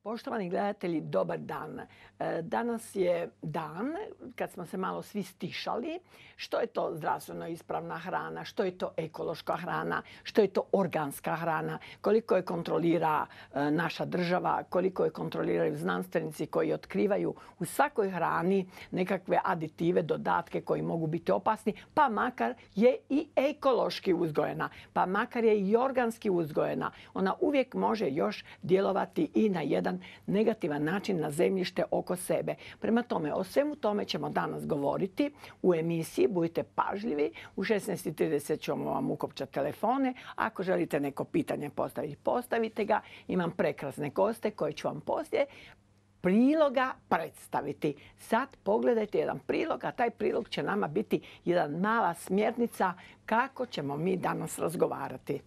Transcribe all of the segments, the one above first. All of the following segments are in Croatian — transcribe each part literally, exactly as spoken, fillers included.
Poštovani gledatelji, dobar dan. Danas je dan kad smo se malo svi stišali. Što je to zdravstveno ispravna hrana, što je to ekološka hrana, što je to organska hrana, koliko je kontrolira naša država, koliko je kontroliraju znanstvenici koji otkrivaju u svakoj hrani nekakve aditive, dodatke koji mogu biti opasni, pa makar je i ekološki uzgojena, pa makar je i organski uzgojena. Ona uvijek može još djelovati i na jedan negativan način na zemljište oko sebe. Prema tome, o svemu tome ćemo danas govoriti u emisiji. Budite pažljivi. U šesnaest i trideset ćemo vam ukopčati telefone. Ako želite neko pitanje postaviti, postavite ga. Imam prekrasne goste koje ću vam poslije priloga predstaviti. Sad pogledajte jedan prilog, a taj prilog će nama biti jedna mala smjernica kako ćemo mi danas razgovarati.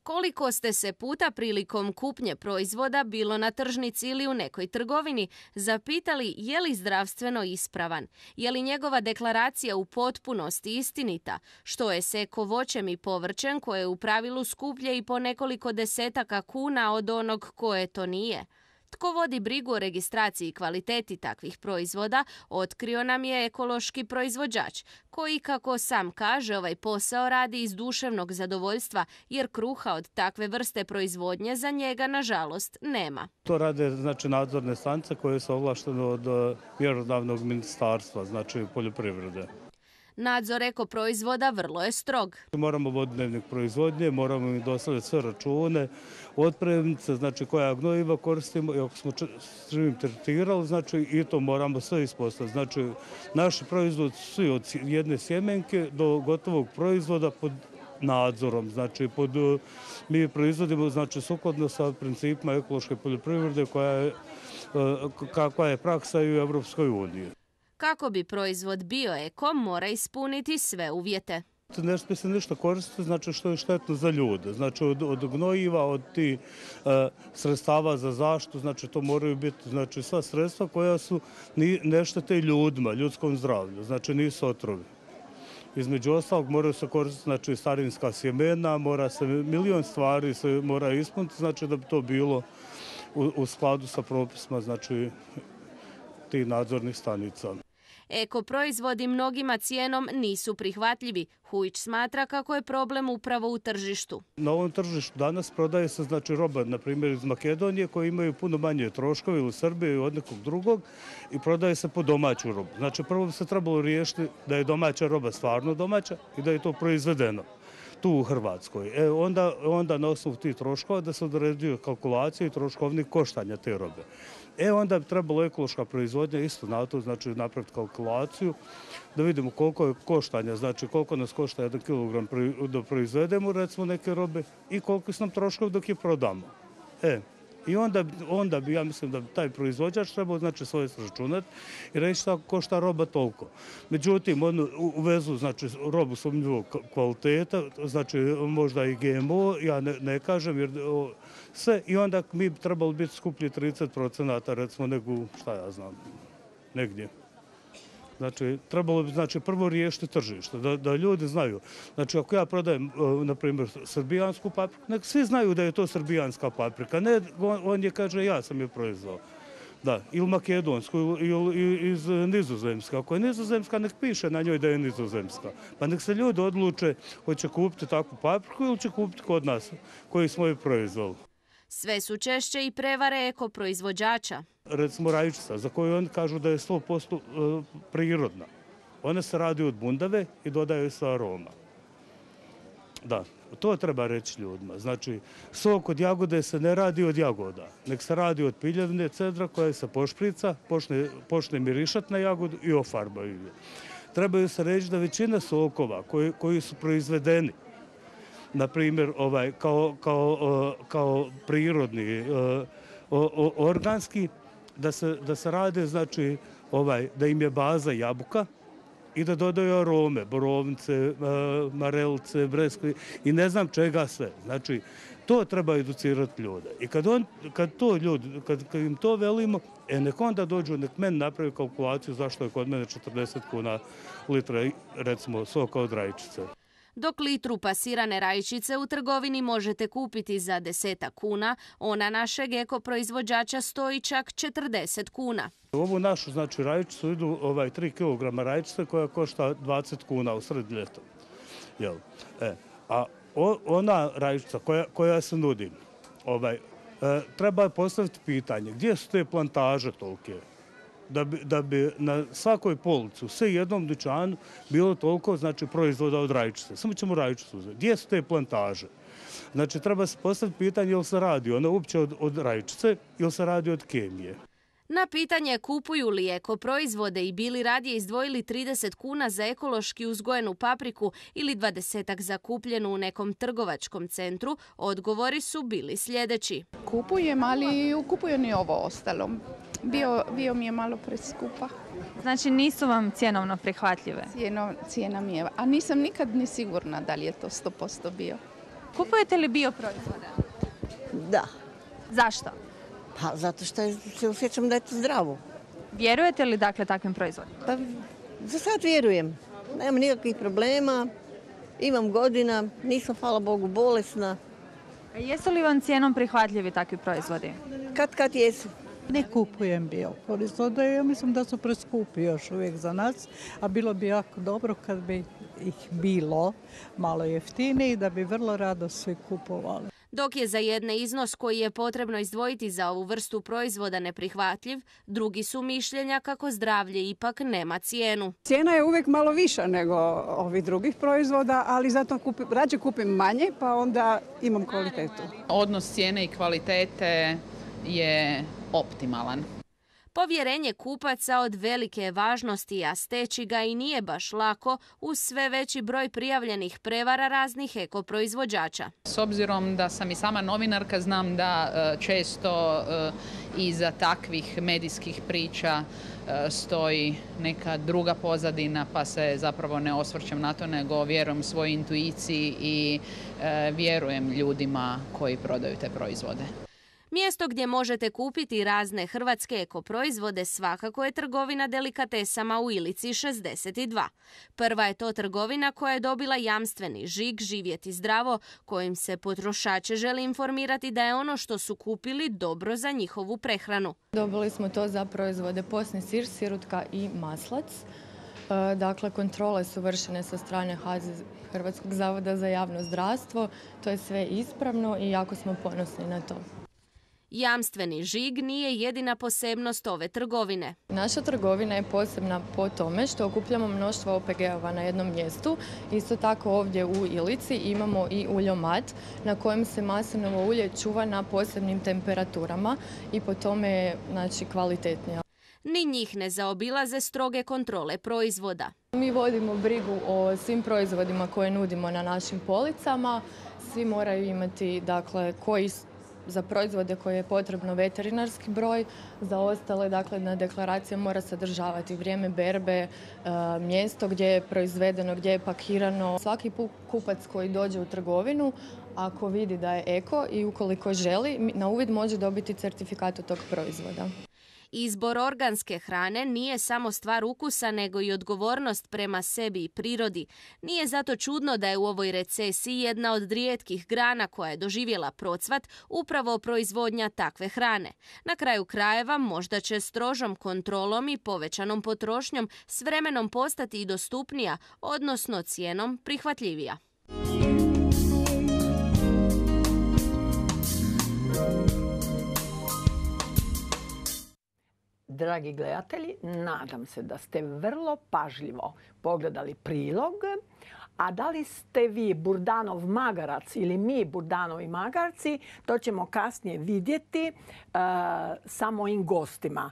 Koliko ste se puta prilikom kupnje proizvoda, bilo na tržnici ili u nekoj trgovini, zapitali je li zdravstveno ispravan? Je li njegova deklaracija u potpunosti istinita? Što je s eko voćem i povrćem koje je u pravilu skuplje i po nekoliko desetaka kuna od onog koje to nije? Tko vodi brigu o registraciji i kvaliteti takvih proizvoda, otkrio nam je ekološki proizvođač, koji, kako sam kaže, ovaj posao radi iz duševnog zadovoljstva, jer kruha od takve vrste proizvodnje za njega, nažalost, nema. To rade znači, nadzorne stanice koje su ovlaštene od mjerodavnog ministarstva, znači poljoprivrede. Nadzor eko proizvoda vrlo je strog. Moramo voditi dnevnik proizvodnje, moramo im dostaviti sve račune, otpremnice, znači koja gnojiva koristimo i ako smo živim tretirali, znači i to moramo sve ispostaviti. Znači naši proizvod svi od jedne sjemenke do gotovog proizvoda pod nadzorom. Znači pod, mi proizvodimo znači sukladno sa principima ekološke poljoprivrede koja je, kakva je praksa i u Europskoj uniji. Kako bi proizvod bio eko, mora ispuniti sve uvjete. Ne smije se ništa koristiti, znači što je štetno za ljude. Znači od, od gnojiva, od tih e, sredstava za zaštitu, znači to moraju biti znači, sva sredstva koja su ni, ne štete ljudima, ljudskom zdravlju, znači nisu otrovi. Između ostalog moraju se koristiti znači, starinska sjemena, mora se milion stvari se mora ispuniti, znači da bi to bilo u, u skladu sa propisima znači, tih nadzornih stanica. Eko proizvodi mnogima cijenom nisu prihvatljivi. Hujić smatra kako je problem upravo u tržištu. Na ovom tržištu danas prodaje se znači roba, na primjer iz Makedonije, koji imaju puno manje troškove ili Srbije ili od nekog drugog i prodaje se po domaću robu. Znači prvo bi se trebalo riješiti da je domaća roba stvarno domaća i da je to proizvedeno tu u Hrvatskoj. E, onda, onda na osnovu tih troškova da se određuju kalkulacije i troškovnih koštanja te robe. E onda bi trebalo ekološka proizvodnja isto na to, znači napraviti kalkulaciju, da vidimo koliko je koštanja, znači koliko nas košta jedan kilogram da proizvedemo recimo neke robe i koliko su nam troškovi dok je prodamo. E, i onda, onda bi, ja mislim da bi taj proizvođač trebao znači svoje sračunati i reći da košta roba toliko. Međutim, on uvezu znači robu sumnjivog kvaliteta, znači možda i G M O, ja ne, ne kažem jer o, sve i onda mi bi trebalo biti skuplji trideset procenata recimo nego šta ja znam, negdje. Znači, trebalo bi znači, prvo riješiti tržište, da, da ljudi znaju. Znači, ako ja prodajem, na primjer, srbijansku papriku, nek svi znaju da je to srbijanska paprika. Ne, on, on je kaže, ja sam je proizvao. Da, ili makedonsku, ili iz Nizozemska. Ako je Nizozemska, nek piše na njoj da je Nizozemska. Pa nek se ljudi odluče hoće kupiti takvu papriku ili će kupiti kod nas, koji smo je proizvali. Sve su češće i prevare eko proizvođača. Recimo rajčica, za koju oni kažu da je sto posto prirodna. Ona se radi od bundave i dodaju se aroma. Da, to treba reći ljudima. Znači, sok od jagode se ne radi od jagoda, nek se radi od piljevine cedra koja se pošprica, počne, počne mirišat na jagodu i ofarbaju je. Trebaju se reći da većina sokova koji, koji su proizvedeni, na primjer, ovaj, kao, kao, kao prirodni, organski, da se, da se rade, znači, ovaj, da im je baza jabuka i da dodaju arome, borovnice, marelice, breskve i ne znam čega sve. Znači, To treba educirati ljude. I kad, on, kad, to ljudi, kad, kad im to velimo, e, nek onda dođu, nek meni napravi kalkulaciju zašto je kod mene četrdeset kuna litra, recimo, soka od rajčice. Dok litru pasirane rajčice u trgovini možete kupiti za desetak kuna, ona našeg ekoproizvođača stoji čak četrdeset kuna. U ovu našu, znači, rajčicu idu ovaj, tri kilograma rajčice koja košta dvadeset kuna u sred ljeta. Jel? E, a o, ona rajčica koja, koja se nudi, ovaj, e, treba postaviti pitanje gdje su te plantaže tolike? Da bi, da bi na svakoj polici, u sve jednom dućanu, bilo toliko, znači, proizvoda od rajčice. Samo ćemo rajčicu uzeti. Gdje su te plantaže? Znači, treba se postaviti pitanje jel se radi ona uopće od, od rajčice ili se radi od kemije. Na pitanje kupuju li ekoproizvode i bili radije izdvojili trideset kuna za ekološki uzgojenu papriku ili dvadesetak za kupljenu u nekom trgovačkom centru, odgovori su bili sljedeći. Kupujem, ali kupujem i ovo ostalo. Bio, bio mi je malo preskupa. Znači nisu vam cjenovno prihvatljive? Cijeno, cijena mi je, a nisam nikad ni sigurna da li je to sto posto bio. Kupujete li bioproizvode? Da. Zašto? Pa zato što se osjećam da je to zdravo. Vjerujete li dakle takvim proizvodima? Pa za sad vjerujem. Nema nikakvih problema, imam godina, nisam, hvala Bogu, bolesna. A jesu li vam cijenom prihvatljivi takvi proizvodi? Kad kad jesu. Ne kupujem bioproizvode, ja mislim da su preskupi još uvijek za nas, a bilo bi jako dobro kad bi ih bilo malo jeftiniji, da bi vrlo rado svi kupovali. Dok je za jedne iznos koji je potrebno izdvojiti za ovu vrstu proizvoda neprihvatljiv, drugi su mišljenja kako zdravlje ipak nema cijenu. Cijena je uvijek malo viša nego ovih drugih proizvoda, ali zato kupim, rađe kupim manje pa onda imam kvalitetu. Odnos cijene i kvalitete je optimalan. Povjerenje kupaca od velike je važnosti, a steći ga i nije baš lako uz sve veći broj prijavljenih prevara raznih ekoproizvođača. S obzirom da sam i sama novinarka, znam da često iza takvih medijskih priča stoji neka druga pozadina, pa se zapravo ne osvrćem na to, nego vjerujem svojoj intuiciji i vjerujem ljudima koji prodaju te proizvode. Mjesto gdje možete kupiti razne hrvatske ekoproizvode svakako je trgovina delikatesama u Ilici šezdeset dva. Prva je to trgovina koja je dobila jamstveni žig Živjeti zdravo, kojim se potrošače želi informirati da je ono što su kupili dobro za njihovu prehranu. Dobili smo to za proizvode posni sir, sirutka i maslac. Dakle, kontrole su vršene sa strane H Z Hrvatskog zavoda za javno zdravstvo. To je sve ispravno i jako smo ponosni na to. Jamstveni žig nije jedina posebnost ove trgovine. Naša trgovina je posebna po tome što okupljamo mnoštvo O P G-ova na jednom mjestu. Isto tako ovdje u Ilici imamo i uljomat na kojem se maslinovo ulje čuva na posebnim temperaturama i po tome je, znači, kvalitetnije. Ni njih ne zaobilaze stroge kontrole proizvoda. Mi vodimo brigu o svim proizvodima koje nudimo na našim policama. Svi moraju imati, dakle, koji za proizvode koje je potrebno veterinarski broj, za ostale, dakle, na deklaracija mora sadržavati vrijeme berbe, mjesto gdje je proizvedeno, gdje je pakirano. Svaki kupac koji dođe u trgovinu, ako vidi da je eko i ukoliko želi, na uvid može dobiti certifikat od tog proizvoda. Izbor organske hrane nije samo stvar ukusa, nego i odgovornost prema sebi i prirodi. Nije zato čudno da je u ovoj recesiji jedna od rijetkih grana koja je doživjela procvat upravo proizvodnja takve hrane. Na kraju krajeva možda će strožom kontrolom i povećanom potrošnjom s vremenom postati i dostupnija, odnosno cijenom prihvatljivija. Dragi gledatelji, nadam se da ste vrlo pažljivo pogledali prilog, a da li ste vi Burdanov magarac ili mi Burdanovi magarci, to ćemo kasnije vidjeti uh, sa mojim gostima.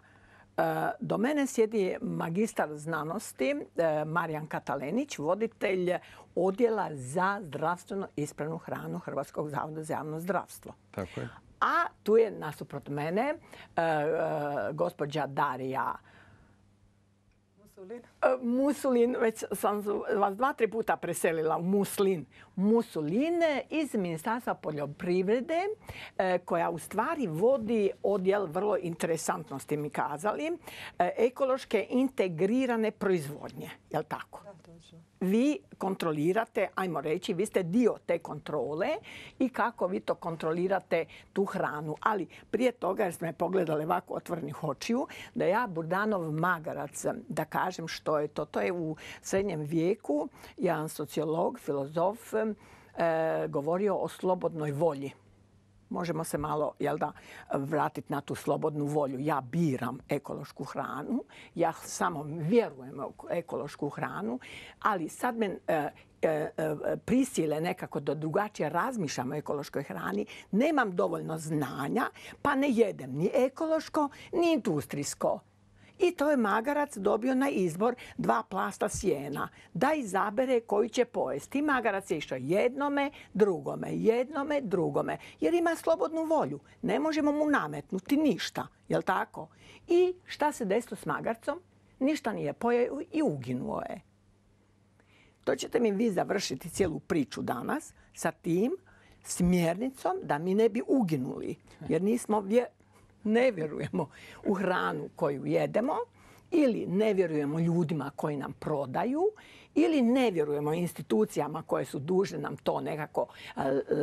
Uh, do mene sjedi magistar znanosti uh, Marijan Katalenić, voditelj odjela za zdravstveno ispravnu hranu Hrvatskog zavoda za javno zdravstvo. Tako je. A tu je nasuprot mene uh, uh, gospođa Darija Musulin. Musulin, već sam vas dva, tri puta preselila u Muslin. Musulin iz Ministarstva poljoprivrede koja u stvari vodi odjel, vrlo interesantno ste mi kazali, ekološke integrirane proizvodnje. Je li tako? Vi kontrolirate, ajmo reći, vi ste dio te kontrole i kako vi to kontrolirate tu hranu. Ali prije toga, jer smo me pogledali ovako otvorenih očiju, da ja Burdanov magarac, da kažem što je to. To je u srednjem vijeku jedan sociolog, filozof, e, govorio o slobodnoj volji. Možemo se malo, jel da, vratiti na tu slobodnu volju. Ja biram ekološku hranu, ja samo vjerujem u ekološku hranu, ali sad me e, e, prisile nekako da drugačije razmišljam o ekološkoj hrani. Nemam dovoljno znanja, pa ne jedem ni ekološko, ni industrijsko. I to je magarac dobio na izbor dva plasta sjena. Da izabere koji će pojesti. Magarac je išao jednome, drugome, jednome, drugome. Jer ima slobodnu volju. Ne možemo mu nametnuti ništa. Jel' tako? I šta se desilo s magarcom? Ništa nije pojeo i uginuo je. To ćete mi vi završiti cijelu priču danas sa tim smjernicom da mi ne bi uginuli. Jer nismo vjerni. Ne vjerujemo u hranu koju jedemo ili ne vjerujemo ljudima koji nam prodaju ili ne vjerujemo institucijama koje su dužne nam to nekako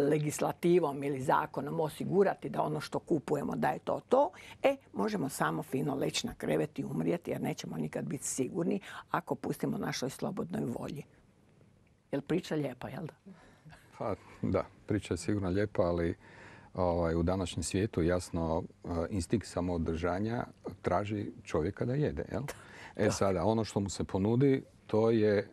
legislativom ili zakonom osigurati da ono što kupujemo da je to to, e, možemo samo fino leći na krevet i umrijeti jer nećemo nikad biti sigurni ako pustimo našoj slobodnoj volji. Jel priča lijepa, jel da? Pa, da, priča je sigurno lijepa, ali Ovaj, u današnjem svijetu jasno instinkt samoodržanja traži čovjeka da jede. Jel? E sada, ono što mu se ponudi, to je,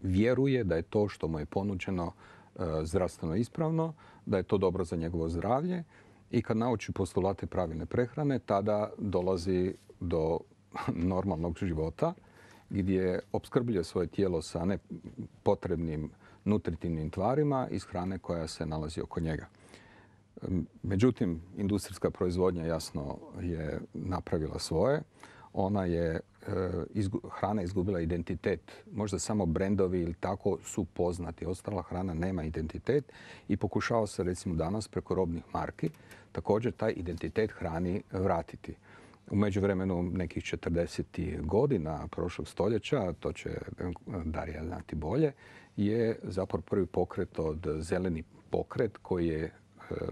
vjeruje da je to što mu je ponuđeno e, zdravstveno ispravno, da je to dobro za njegovo zdravlje i kad nauči postulate pravilne prehrane, tada dolazi do normalnog života gdje opskrbljuje svoje tijelo sa nepotrebnim nutritivnim tvarima iz hrane koja se nalazi oko njega. Međutim, industrijska proizvodnja jasno je napravila svoje. Ona je, hrana izgubila identitet. Možda samo brendovi ili tako su poznati. Ostala hrana nema identitet i pokušava se recimo danas preko robnih marki također taj identitet hrani vratiti. U međuvremenu nekih četrdesetih godina prošlog stoljeća, to će Darija znati bolje, je zapravo prvi pokret od zeleni pokret koji je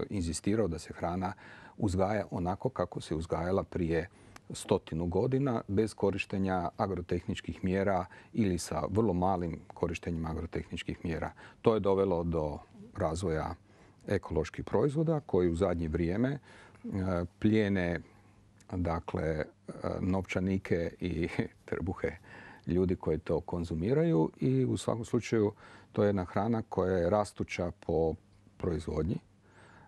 inzistirao da se hrana uzgaja onako kako se uzgajala prije stotinu godina bez korištenja agrotehničkih mjera ili sa vrlo malim korištenjem agrotehničkih mjera. To je dovelo do razvoja ekoloških proizvoda koji u zadnje vrijeme plijene dakle, novčanike i trbuhe ljudi koji to konzumiraju i u svakom slučaju to je jedna hrana koja je rastuća po proizvodnji.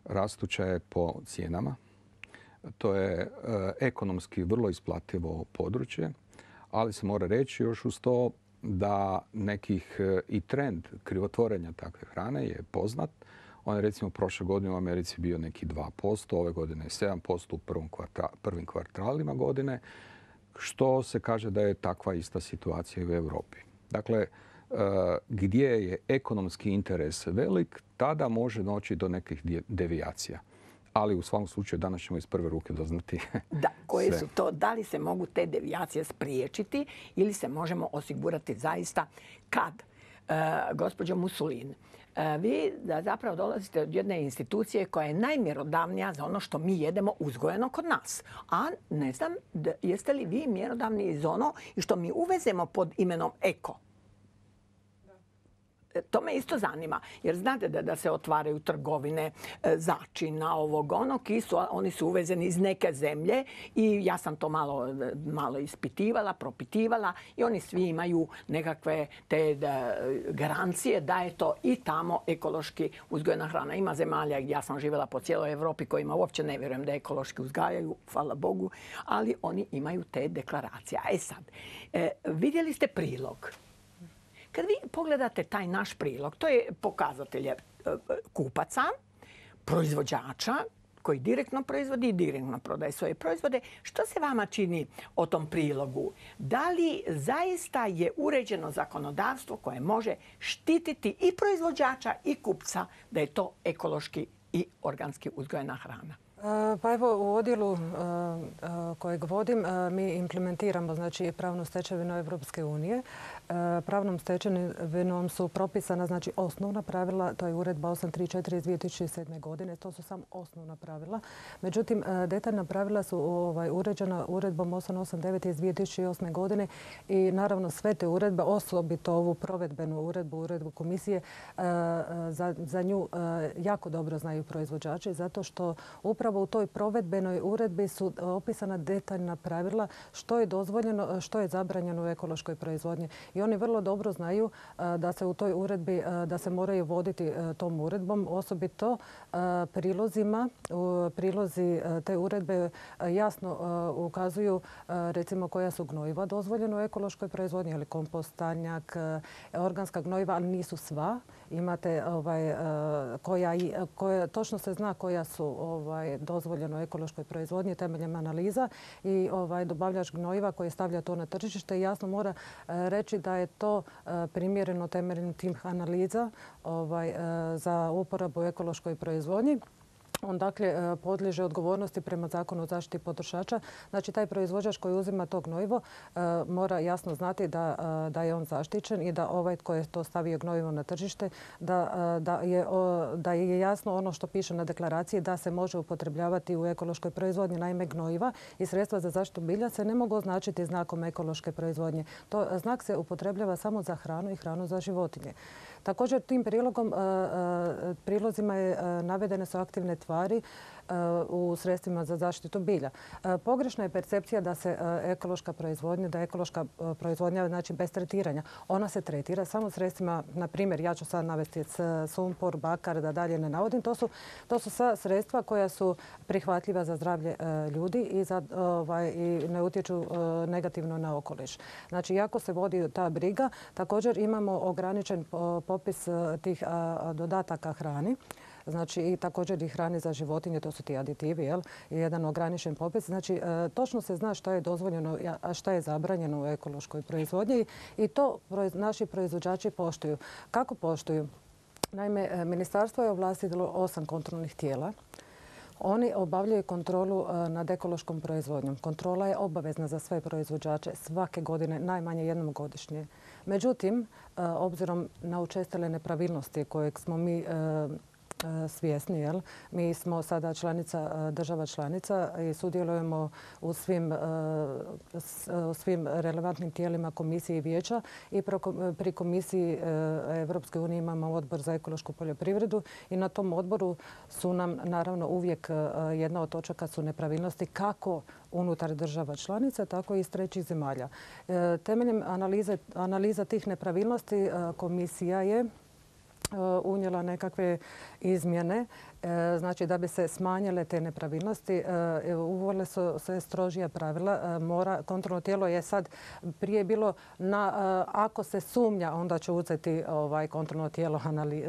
Rastuća je po cijenama. To je e, ekonomski vrlo isplativo područje, ali se mora reći još uz to da nekih e, i trend krivotvorenja takve hrane je poznat. On je recimo prošle godine u Americi bio neki dva posto, ove godine je sedam posto u prvom kvarta, prvim kvartalima godine, što se kaže da je takva ista situacija i u Europi. Dakle, gdje je ekonomski interes velik, tada može doći do nekih devijacija. Ali u svakom slučaju danas ćemo iz prve ruke doznati. Da, koje su to? Da li se mogu te devijacije spriječiti ili se možemo osigurati zaista kad, uh, gospođo Musulin, uh, vi da zapravo dolazite od jedne institucije koja je najmjerodavnija za ono što mi jedemo uzgojeno kod nas. A ne znam, da, jeste li vi mjerodavni iz ono i što mi uvezemo pod imenom eko? To me isto zanima, jer znate da, da se otvaraju trgovine e, začina, ovog onog, i su, oni su uvezeni iz neke zemlje i ja sam to malo, malo ispitivala, propitivala i oni svi imaju nekakve te da, garancije da je to i tamo ekološki uzgojena hrana. Ima zemalja gdje ja sam živjela po cijeloj Europi kojima uopće ne vjerujem da ekološki uzgajaju, hvala Bogu, ali oni imaju te deklaracije. E sad, e, vidjeli ste prilog. Kad vi pogledate taj naš prilog, to je pokazatelj kupaca, proizvođača, koji direktno proizvodi i direktno prodaje svoje proizvode. Što se vama čini o tom prilogu? Da li zaista je uređeno zakonodavstvo koje može štititi i proizvođača i kupca da je to ekološki i organski uzgojena hrana? Pa evo, u odjelu kojeg vodim mi implementiramo znači pravnu stečevinu Evropske unije. Pravnom stečevinom su propisana znači osnovna pravila, to je uredba osam tri četiri iz dvije tisuće sedme. godine, to su samo osnovna pravila. Međutim, detaljna pravila su ovaj, uređena uredbom osam osam devet iz dvije tisuće osme. godine i naravno sve te uredbe, osobito ovu provedbenu uredbu, uredbu komisije, za, za nju jako dobro znaju proizvođači zato što upravo u toj provedbenoj uredbi su opisana detaljna pravila što je dozvoljeno, što je zabranjeno u ekološkoj proizvodnji. I oni vrlo dobro znaju da se u toj uredbi, da se moraju voditi tom uredbom, osobito prilozima. Prilozi te uredbe jasno ukazuju recimo koja su gnojiva dozvoljena u ekološkoj proizvodnji, ili kompostanjak, organska gnojiva, ali nisu sva. Imate ovaj, koja, koja, točno se zna koja su ovaj, dozvoljeno u ekološkoj proizvodnji temeljem analiza i ovaj, dobavljač gnojiva koji stavlja to na tržište jasno mora reći da je to primjereno temeljem tih analiza ovaj, za uporabu u ekološkoj proizvodnji. On dakle podliježe odgovornosti prema Zakonu o zaštiti potrošača. Znači taj proizvođač koji uzima to gnojivo mora jasno znati da, da je on zaštićen i da ovaj tko je to stavio gnojivo na tržište da, da, je, da je jasno ono što piše na deklaraciji da se može upotrebljavati u ekološkoj proizvodnji. Naime, gnojiva i sredstva za zaštitu bilja se ne mogu označiti znakom ekološke proizvodnje. To znak se upotrebljava samo za hranu i hranu za životinje. Također tim prilogom, prilozima je, navedene su aktivne tvari u sredstvima za zaštitu bilja. Pogrešna je percepcija da se ekološka proizvodnja, da je ekološka proizvodnja znači bez tretiranja. Ona se tretira samo sredstvima, na primjer, ja ću sad navesti sumpor, bakar, da dalje ne navodim. To su, to su sva sredstva koja su prihvatljiva za zdravlje ljudi i, za, ovaj, i ne utječu negativno na okoliš. Znači, jako se vodi ta briga. Također imamo ograničen popis tih dodataka hrani. Znači i također i hrane za životinje, to su ti aditivi, jel? Jedan ograničen popis. Znači točno se zna što je dozvoljeno, a što je zabranjeno u ekološkoj proizvodnji i to naši proizvođači poštuju. Kako poštuju? Naime, ministarstvo je ovlastilo osam kontrolnih tijela. Oni obavljaju kontrolu nad ekološkom proizvodnjom. Kontrola je obavezna za sve proizvođače svake godine, najmanje jednom godišnje. Međutim, obzirom na učestale nepravilnosti kojeg smo mi svjesni, jel? Mi smo sada članica, država članica i sudjelujemo u svim, u svim relevantnim tijelima komisije i vijeća i pri komisiji Evropske unije imamo odbor za ekološku poljoprivredu i na tom odboru su nam naravno uvijek jedna od točaka su nepravilnosti kako unutar država članica, tako i iz trećih zemalja. Temeljem analize, analiza tih nepravilnosti komisija je unijela nekakve izmjene, znači da bi se smanjile te nepravilnosti, uvele su se strožija pravila. Mora, kontrolno tijelo je sad prije bilo na, ako se sumnja, onda će uzeti ovaj kontrolno tijelo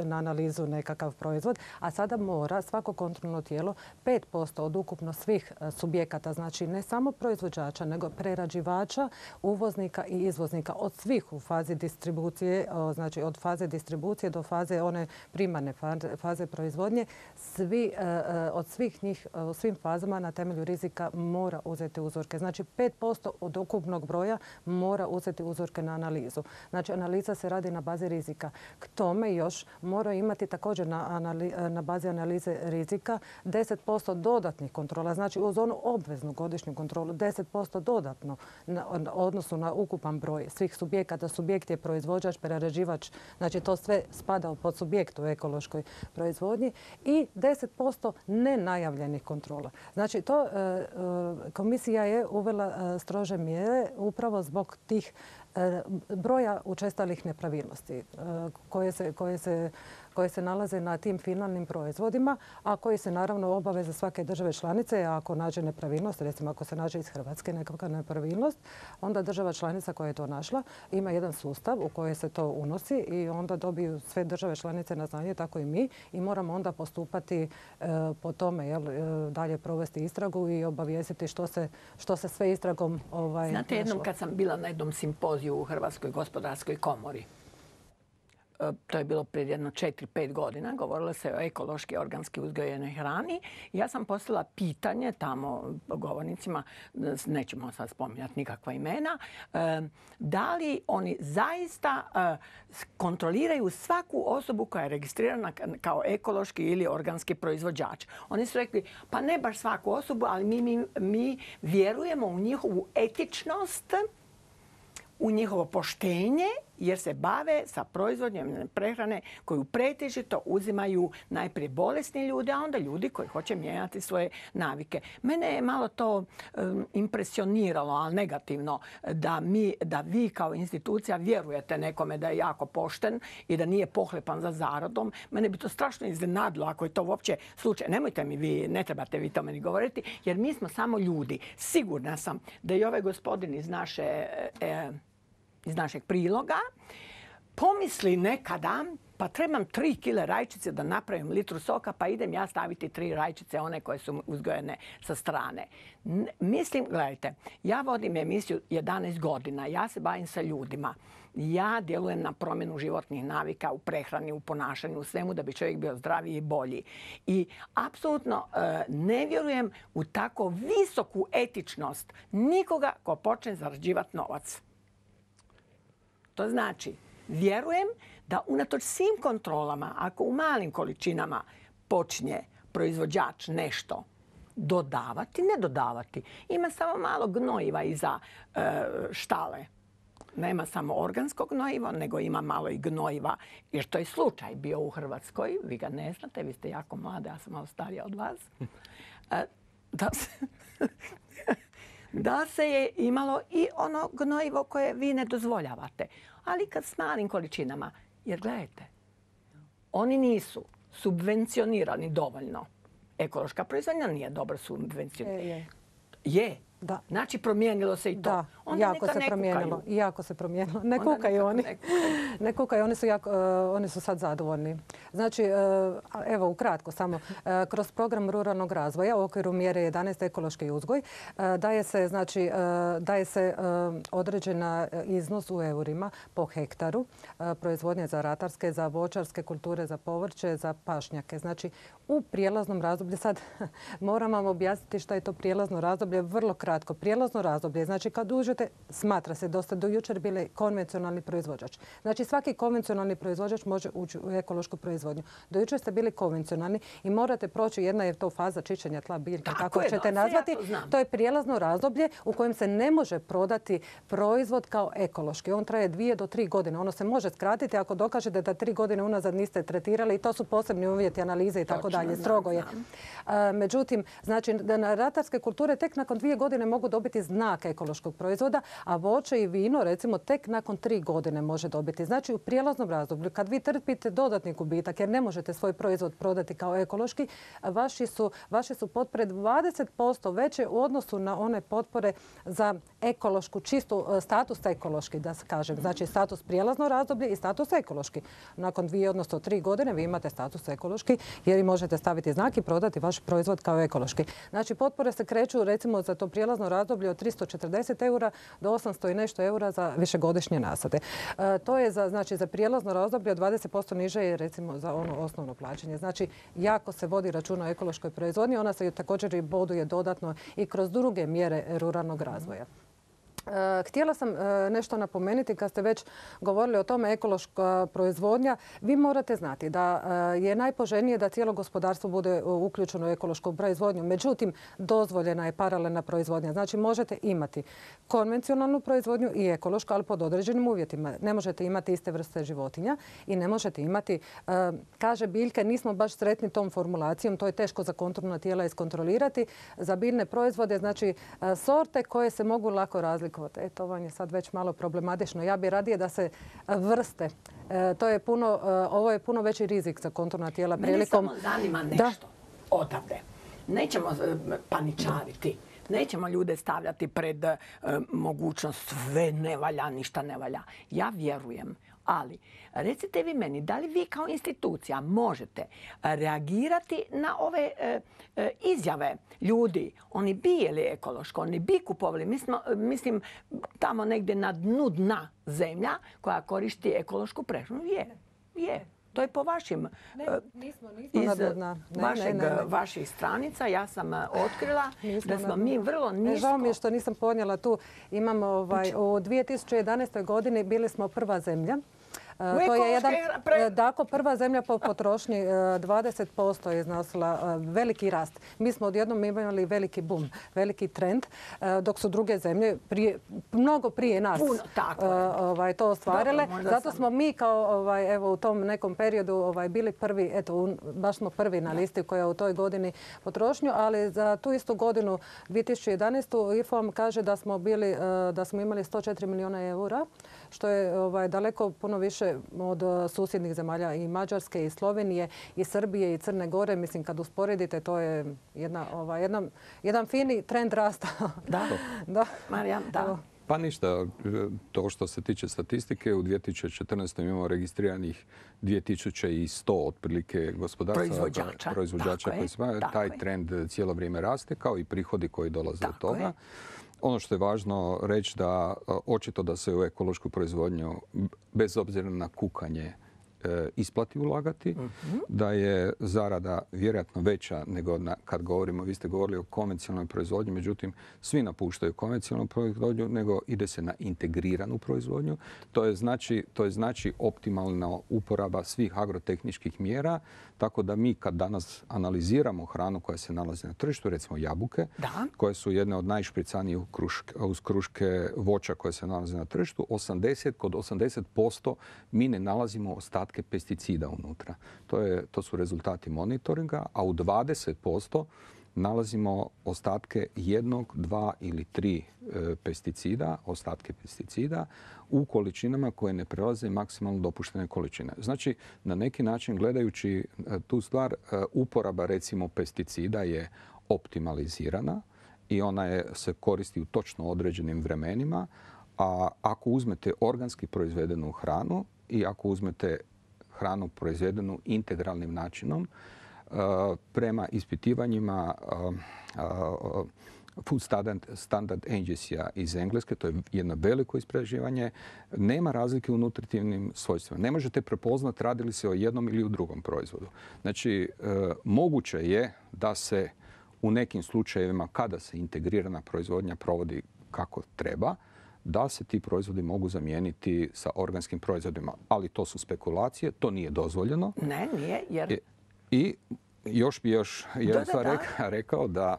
na analizu nekakav proizvod, a sada mora svako kontrolno tijelo pet posto od ukupno svih subjekata, znači ne samo proizvođača, nego prerađivača, uvoznika i izvoznika, od svih u fazi distribucije, znači od faze distribucije do faze one primarne faze proizvodnje, svi, od svih njih u svim fazama na temelju rizika mora uzeti uzorke. Znači pet posto od ukupnog broja mora uzeti uzorke na analizu. Znači analiza se radi na bazi rizika. K tome još mora imati također na, anali, na bazi analize rizika deset posto dodatnih kontrola. Znači uz onu obveznu godišnju kontrolu deset posto dodatno na odnosu na ukupan broj svih subjekata. Subjekt je proizvođač, prerađivač. Znači to sve spada pod subjekt u ekološkoj proizvodnji i deset posto nenajavljenih kontrola. Znači, to komisija je uvela strože mjere upravo zbog tih broja učestalih nepravilnosti koje se, koje se koje se nalaze na tim finalnim proizvodima, a koji se naravno obaveze svake države članice, a ako nađe nepravilnost, recimo ako se nađe iz Hrvatske nekakva nepravilnost, onda država članica koja je to našla ima jedan sustav u koji se to unosi i onda dobiju sve države članice na znanje, tako i mi, i moramo onda postupati e, po tome, jel, e, dalje provesti istragu i obavijestiti što se, što se sve istragom ovaj, Znate, jednom našlo. kad sam bila na jednom simpoziju u Hrvatskoj gospodarskoj komori, to je bilo prije jedno četiri pet godina, govorilo se o ekološki organski uzgojenoj hrani. Ja sam postavila pitanje tamo govornicima, nećemo sad spominjati nikakva imena, da li oni zaista kontroliraju svaku osobu koja je registrirana kao ekološki ili organski proizvođač. Oni su rekli, pa ne baš svaku osobu, ali mi, mi, mi vjerujemo u njihovu etičnost, u njihovo poštenje, jer se bave sa proizvodnjom prehrane koju pretežito uzimaju najprije bolesni ljudi, a onda ljudi koji hoće mijenjati svoje navike. Mene je malo to um, impresioniralo, ali negativno, da, mi, da vi kao institucija vjerujete nekome da je jako pošten i da nije pohlepan za zaradom. Mene bi to strašno iznenadilo ako je to uopće slučaj. Nemojte mi vi, ne trebate vi to meni govoriti, jer mi smo samo ljudi. Sigurna sam da i ovaj gospodin iz naše... E, iz našeg priloga, pomisli nekada, pa trebam tri kile rajčice da napravim litru soka, pa idem ja staviti tri rajčice, one koje su uzgojene sa strane. N- mislim, gledajte, ja vodim emisiju jedanaest godina, ja se bavim sa ljudima. Ja djelujem na promjenu životnih navika u prehrani, u ponašanju, u svemu da bi čovjek bio zdraviji i bolji. I apsolutno e, ne vjerujem u tako visoku etičnost nikoga ko počne zarađivati novac. To znači, vjerujem da unatoč svim kontrolama, ako u malim količinama počne proizvođač nešto dodavati, ne dodavati, ima samo malo gnojiva iza e, štale. Nema samo organskog gnojiva, nego ima malo i gnojiva, jer to je slučaj bio u Hrvatskoj. Vi ga ne znate, vi ste jako mlade, ja sam malo starija od vas. E, da se... da se je imalo i ono gnojivo koje vi ne dozvoljavate. Ali kad s malim količinama, jer gledajte, oni nisu subvencionirani dovoljno. Ekološka proizvodnja nije dobro subvencionirana. Je, je. Je. Da. Znači promijenilo se i to. Da, onda jako se ne promijenilo. kukaju. Jako se promijenilo. Ne Onda kukaju oni. Ne kukaju. Ne kukaju, oni su, jako, uh, oni su sad zadovoljni. Znači, uh, evo ukratko samo, uh, kroz program ruralnog razvoja u okviru mjere jedanaest ekološki uzgoj uh, daje se, znači, uh, daje se uh, određena iznos u eurima po hektaru uh, proizvodnje za ratarske, za voćarske kulture, za povrće, za pašnjake. Znači, u prijelaznom razdoblju, sad moram vam objasniti što je to prijelazno razdoblje, vrlo kratko. Prijelazno razdoblje, znači kad uđete, smatra se da ste do jučer bili konvencionalni proizvođač. Znači svaki konvencionalni proizvođač može ući u ekološku proizvodnju. Do jučer ste bili konvencionalni i morate proći, jedna je to faza čišćenja tla biljke, tako, kako je, ćete da, nazvati. Ja to znam. To je prijelazno razdoblje u kojem se ne može prodati proizvod kao ekološki. On traje dvije do tri godine. Ono se može skratiti ako dokažete da tri godine unazad niste tretirali i to su posebni uvjeti analize i tako dalje. Strogo je. Međutim, znači da na ratarske kulture tek nakon dvije godine mogu dobiti znak ekološkog proizvoda, a voće i vino recimo tek nakon tri godine može dobiti. Znači u prijelaznom razdoblju kad vi trpite dodatni gubitak jer ne možete svoj proizvod prodati kao ekološki, vaši su, vaše su potpore dvadeset posto veće u odnosu na one potpore za ekološku, čistu status ekološki, da se kažem. Znači status prijelazno razdoblje i status ekološki. Nakon dvije, odnosno tri godine vi imate status ekološki jer i možete staviti znak i prodati vaš proizvod kao ekološki. Znači potpore se kreću recimo za to prijelazno razdoblje od tristo četrdeset eura do osamsto i nešto eura za višegodišnje nasade. E, to je za, znači, za prijelazno razdoblje od dvadeset posto niže je recimo za ono osnovno plaćanje. Znači jako se vodi računa o ekološkoj proizvodnji. Ona se također i boduje dodatno i kroz druge mjere ruralnog razvoja. Htjela sam nešto napomenuti kad ste već govorili o tome ekološka proizvodnja. Vi morate znati da je najpoželjnije da cijelo gospodarstvo bude uključeno u ekološku proizvodnju. Međutim, dozvoljena je paralelna proizvodnja. Znači možete imati konvencionalnu proizvodnju i ekološku, ali pod određenim uvjetima. Ne možete imati iste vrste životinja i ne možete imati, kaže biljke, nismo baš sretni tom formulacijom, to je teško za kontrolna tijela iskontrolirati. Za biljne proizvode, znači sorte koje se mogu lako razlikovati. kvote. E, to vam je sad već malo problematično. Ja bih radije da se vrste. E, to je puno, e, ovo je puno veći rizik za kontrolna tijela prilikom... Mene samo zanima nešto odavde. Nećemo paničariti. Nećemo ljude stavljati pred e, mogućnost sve ne valja, ništa ne valja. Ja vjerujem. Ali, recite vi meni, da li vi kao institucija možete reagirati na ove e, e, izjave ljudi? Oni bi jeli ekološko, oni bi kupovali. Mi smo, mislim, tamo negdje na dnu dna zemlja koja koristi ekološku prehranu. Je, je. To je po vašim, ne, nismo, nismo iz ne, vašeg, ne, ne, ne. vaših stranica. Ja sam otkrila nismo da smo mi vrlo nisko. Žao mi je što nisam ponijela tu. Imamo ovaj, u dvije tisuće jedanaestoj godini bili smo prva zemlja. To je jedan, dakle, prva zemlja po potrošnji dvadeset posto je iznosila veliki rast. Mi smo odjednom imali veliki boom, veliki trend, dok su druge zemlje prije, mnogo prije nas Puno, tako ovaj, to ostvarile. Dobro, zato sam... smo mi kao ovaj, evo, u tom nekom periodu ovaj, bili prvi, eto, baš smo prvi na listi koja u toj godini potrošnju, ali za tu istu godinu dvije tisuće jedanaestu I F O M kaže da smo, bili, da smo imali sto četiri milijuna eura, što je ovaj, daleko puno više od susjednih zemalja i Mađarske i Slovenije i Srbije i Crne Gore. Mislim, kad usporedite, to je jedna, ovaj, jedna, jedan fini trend rasta. Da, da. Marijan, da. Pa ništa, to što se tiče statistike, u dvije tisuće četrnaestoj imamo registriranih dvije tisuće sto otprilike gospodarstva, proizvođača, proizvođača koji se bave. Taj je. Trend cijelo vrijeme raste, kao i prihodi koji dolaze od toga. Je. Ono što je važno reći da očito da se u ekološku proizvodnju, bez obzira na kukanje, isplati ulagati, uh-huh. da je zarada vjerojatno veća nego na, kad govorimo, vi ste govorili o konvencionalnoj proizvodnji, međutim svi napuštaju konvencionalnu proizvodnju, nego ide se na integriranu proizvodnju. To je znači, to je znači optimalna uporaba svih agrotehničkih mjera, tako da mi kad danas analiziramo hranu koja se nalazi na tržištu, recimo jabuke, da. koje su jedne od najšpricanijih uz kruške voća koje se nalaze na tržištu, osamdeset, kod osamdeset posto mi ne nalazimo ostatke pesticida unutra. To, je, to su rezultati monitoringa, a u dvadeset posto nalazimo ostatke jednog, dva ili tri e, pesticida, ostatke pesticida u količinama koje ne prelaze maksimalno dopuštene količine. Znači, na neki način gledajući e, tu stvar, e, uporaba recimo pesticida je optimalizirana i ona je, se koristi u točno određenim vremenima, a ako uzmete organski proizvedenu hranu i ako uzmete hranu proizvedenu integralnim načinom, prema ispitivanjima Food Standard, Standard Agency-a iz Engleske, to je jedno veliko istraživanje, nema razlike u nutritivnim svojstvima. Ne možete prepoznati radi li se o jednom ili u drugom proizvodu. Znači, moguće je da se u nekim slučajevima, kada se integrirana proizvodnja provodi kako treba, da se ti proizvodi mogu zamijeniti sa organskim proizvodima. Ali to su spekulacije, to nije dozvoljeno. Ne, nije, jer... I još bi još jedan stvar reka, rekao da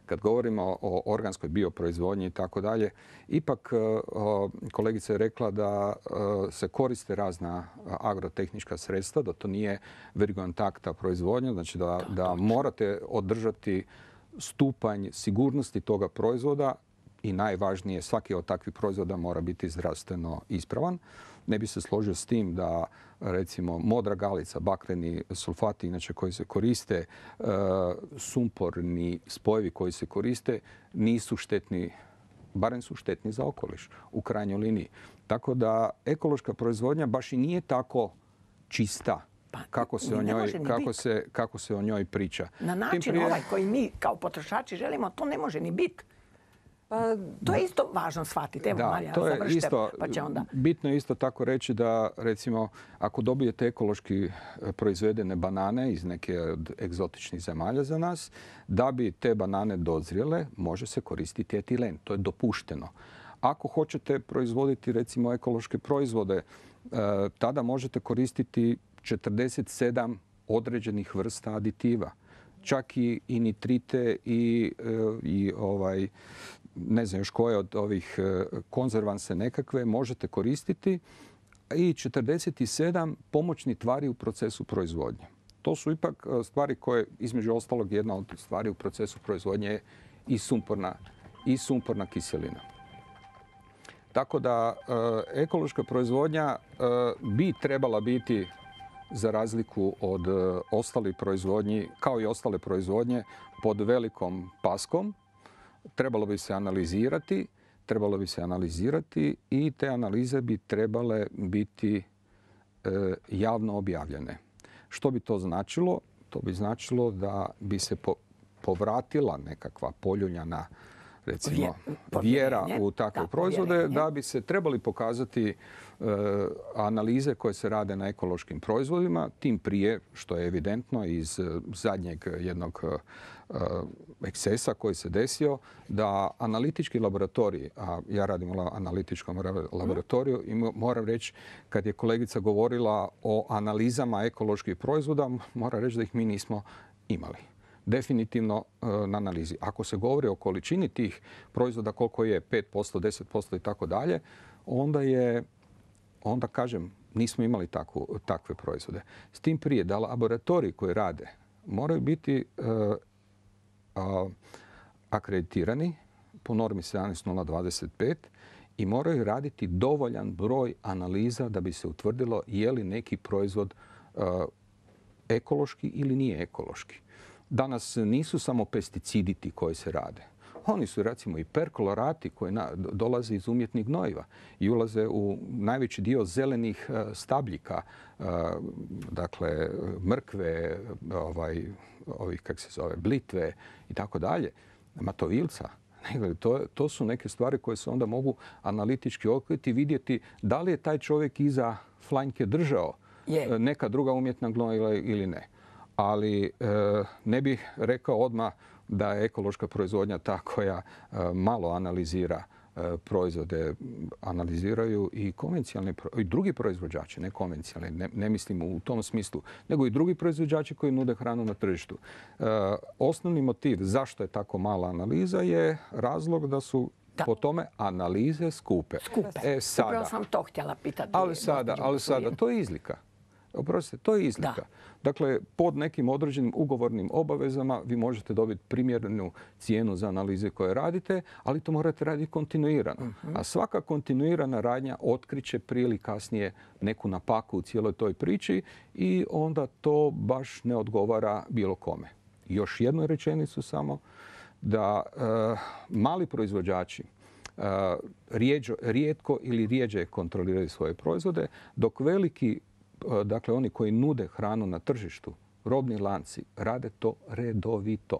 kad govorimo o organskoj bioproizvodnji i tako dalje, ipak kolegica je rekla da se koriste razna agrotehnička sredstva, da to nije vertikontakta proizvodnja, znači da, da morate održati stupanj sigurnosti toga proizvoda i najvažnije, svaki od takvih proizvoda mora biti zdravstveno ispravan. Ne bi se složio s tim da, recimo, modra galica, bakreni sulfati, inače koji se koriste, e, sumporni spojevi koji se koriste, nisu štetni, barem su štetni za okoliš u krajnjoj liniji. Tako da ekološka proizvodnja baš i nije tako čista kako se, o njoj, kako, se, kako se o njoj priča. Na način prije... ovaj koji mi kao potrošači želimo, to ne može ni biti. Pa, to je isto važno shvatiti. Evo, da, Marija, to je završite, isto, pa će onda... Bitno je isto tako reći da, recimo, ako dobijete ekološki proizvedene banane iz neke od egzotičnih zemalja za nas, da bi te banane dozrijele, može se koristiti etilen. To je dopušteno. Ako hoćete proizvoditi, recimo, ekološke proizvode, tada možete koristiti četrdeset sedam određenih vrsta aditiva. Čak i, i nitrite i, i ovaj... ne znam još koje od ovih konzervanse nekakve možete koristiti i četrdeset sedam pomoćnih tvari u procesu proizvodnje. To su ipak stvari koje, između ostalog, jedna od stvari u procesu proizvodnje je i sumporna, i sumporna kiselina. Tako da ekološka proizvodnja bi trebala biti, za razliku od ostalih proizvodnji, kao i ostale proizvodnje, pod velikom paskom. Trebalo bi se analizirati, trebalo bi se analizirati i te analize bi trebale biti javno objavljene. Što bi to značilo? To bi značilo da bi se povratila nekakva poljuljana, recimo, vjera u takve proizvode, da bi se trebali pokazati analize koje se rade na ekološkim proizvodima, tim prije što je evidentno iz zadnjeg jednog ekscesa koji se desio, da analitički laboratoriji, a ja radim u analitičkom laboratoriju i moram reći, kad je kolegica govorila o analizama ekoloških proizvoda, moram reći da ih mi nismo imali. Definitivno na analizi. Ako se govori o količini tih proizvoda, koliko je pet posto, deset posto i tako dalje, onda je, onda kažem, nismo imali takvu, takve proizvode. S tim prije da laboratoriji koji rade moraju biti uh, uh, akreditirani po normi sedamnaest nula dvadeset pet i moraju raditi dovoljan broj analiza da bi se utvrdilo je li neki proizvod uh, ekološki ili nije ekološki. Danas nisu samo pesticidi ti koji se rade. Oni su recimo i perkolorati koji na, dolaze iz umjetnih gnojiva i ulaze u najveći dio zelenih uh, stabljika, uh, dakle mrkve, ovaj, ovih, kak se zove, blitve i tako dalje, matovilca. To, to su neke stvari koje se onda mogu analitički otkriti i vidjeti da li je taj čovjek iza flanjke držao je. neka druga umjetna gnojiva ili ne. Ali e, ne bih rekao odmah da je ekološka proizvodnja ta koja e, malo analizira e, proizvode. Analiziraju i konvencionalni i drugi proizvođači, ne konvencionalni, ne, ne mislim u tom smislu, nego i drugi proizvođači koji nude hranu na tržištu. E, osnovni motiv zašto je tako mala analiza je razlog da su da. po tome analize skupe. Skupe. E, sada, Upravo sam to htjela pitati. Ali sada, ali sada, to je izlika. Oprostite, to je izlika. Da. Dakle, pod nekim određenim ugovornim obavezama vi možete dobiti primjerenu cijenu za analize koje radite, ali to morate raditi kontinuirano. Uh-huh. A svaka kontinuirana radnja otkriće prije ili kasnije neku napaku u cijeloj toj priči i onda to baš ne odgovara bilo kome. Još jednu rečenicu samo, da e, mali proizvođači e, rijeđo, rijetko ili rijeđe kontroliraju svoje proizvode, dok veliki, dakle oni koji nude hranu na tržištu, robni lanci, rade to redovito.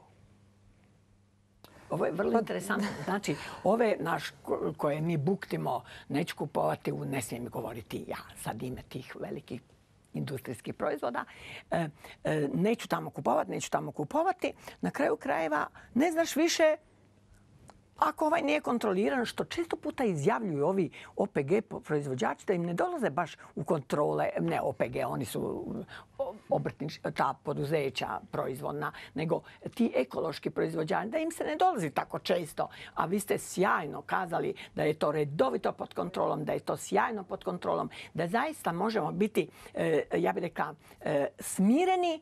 Ovo je vrlo interesantno. Znači, ove naš koje mi buktimo, neću kupovati, u, ne smijem govoriti ja sad ime tih velikih industrijskih proizvoda, e, e, neću tamo kupovati, neću tamo kupovati. Na kraju krajeva ne znaš više ako ovaj nije kontroliran, što često puta izjavljuju ovi O P G proizvođači, da im ne dolaze baš u kontrole, ne O P G, oni su obrtnič, ta poduzeća proizvodna, nego ti ekološki proizvođači, da im se ne dolazi tako često. A vi ste sjajno kazali da je to redovito pod kontrolom, da je to sjajno pod kontrolom, da zaista možemo biti, ja bih rekla, smireni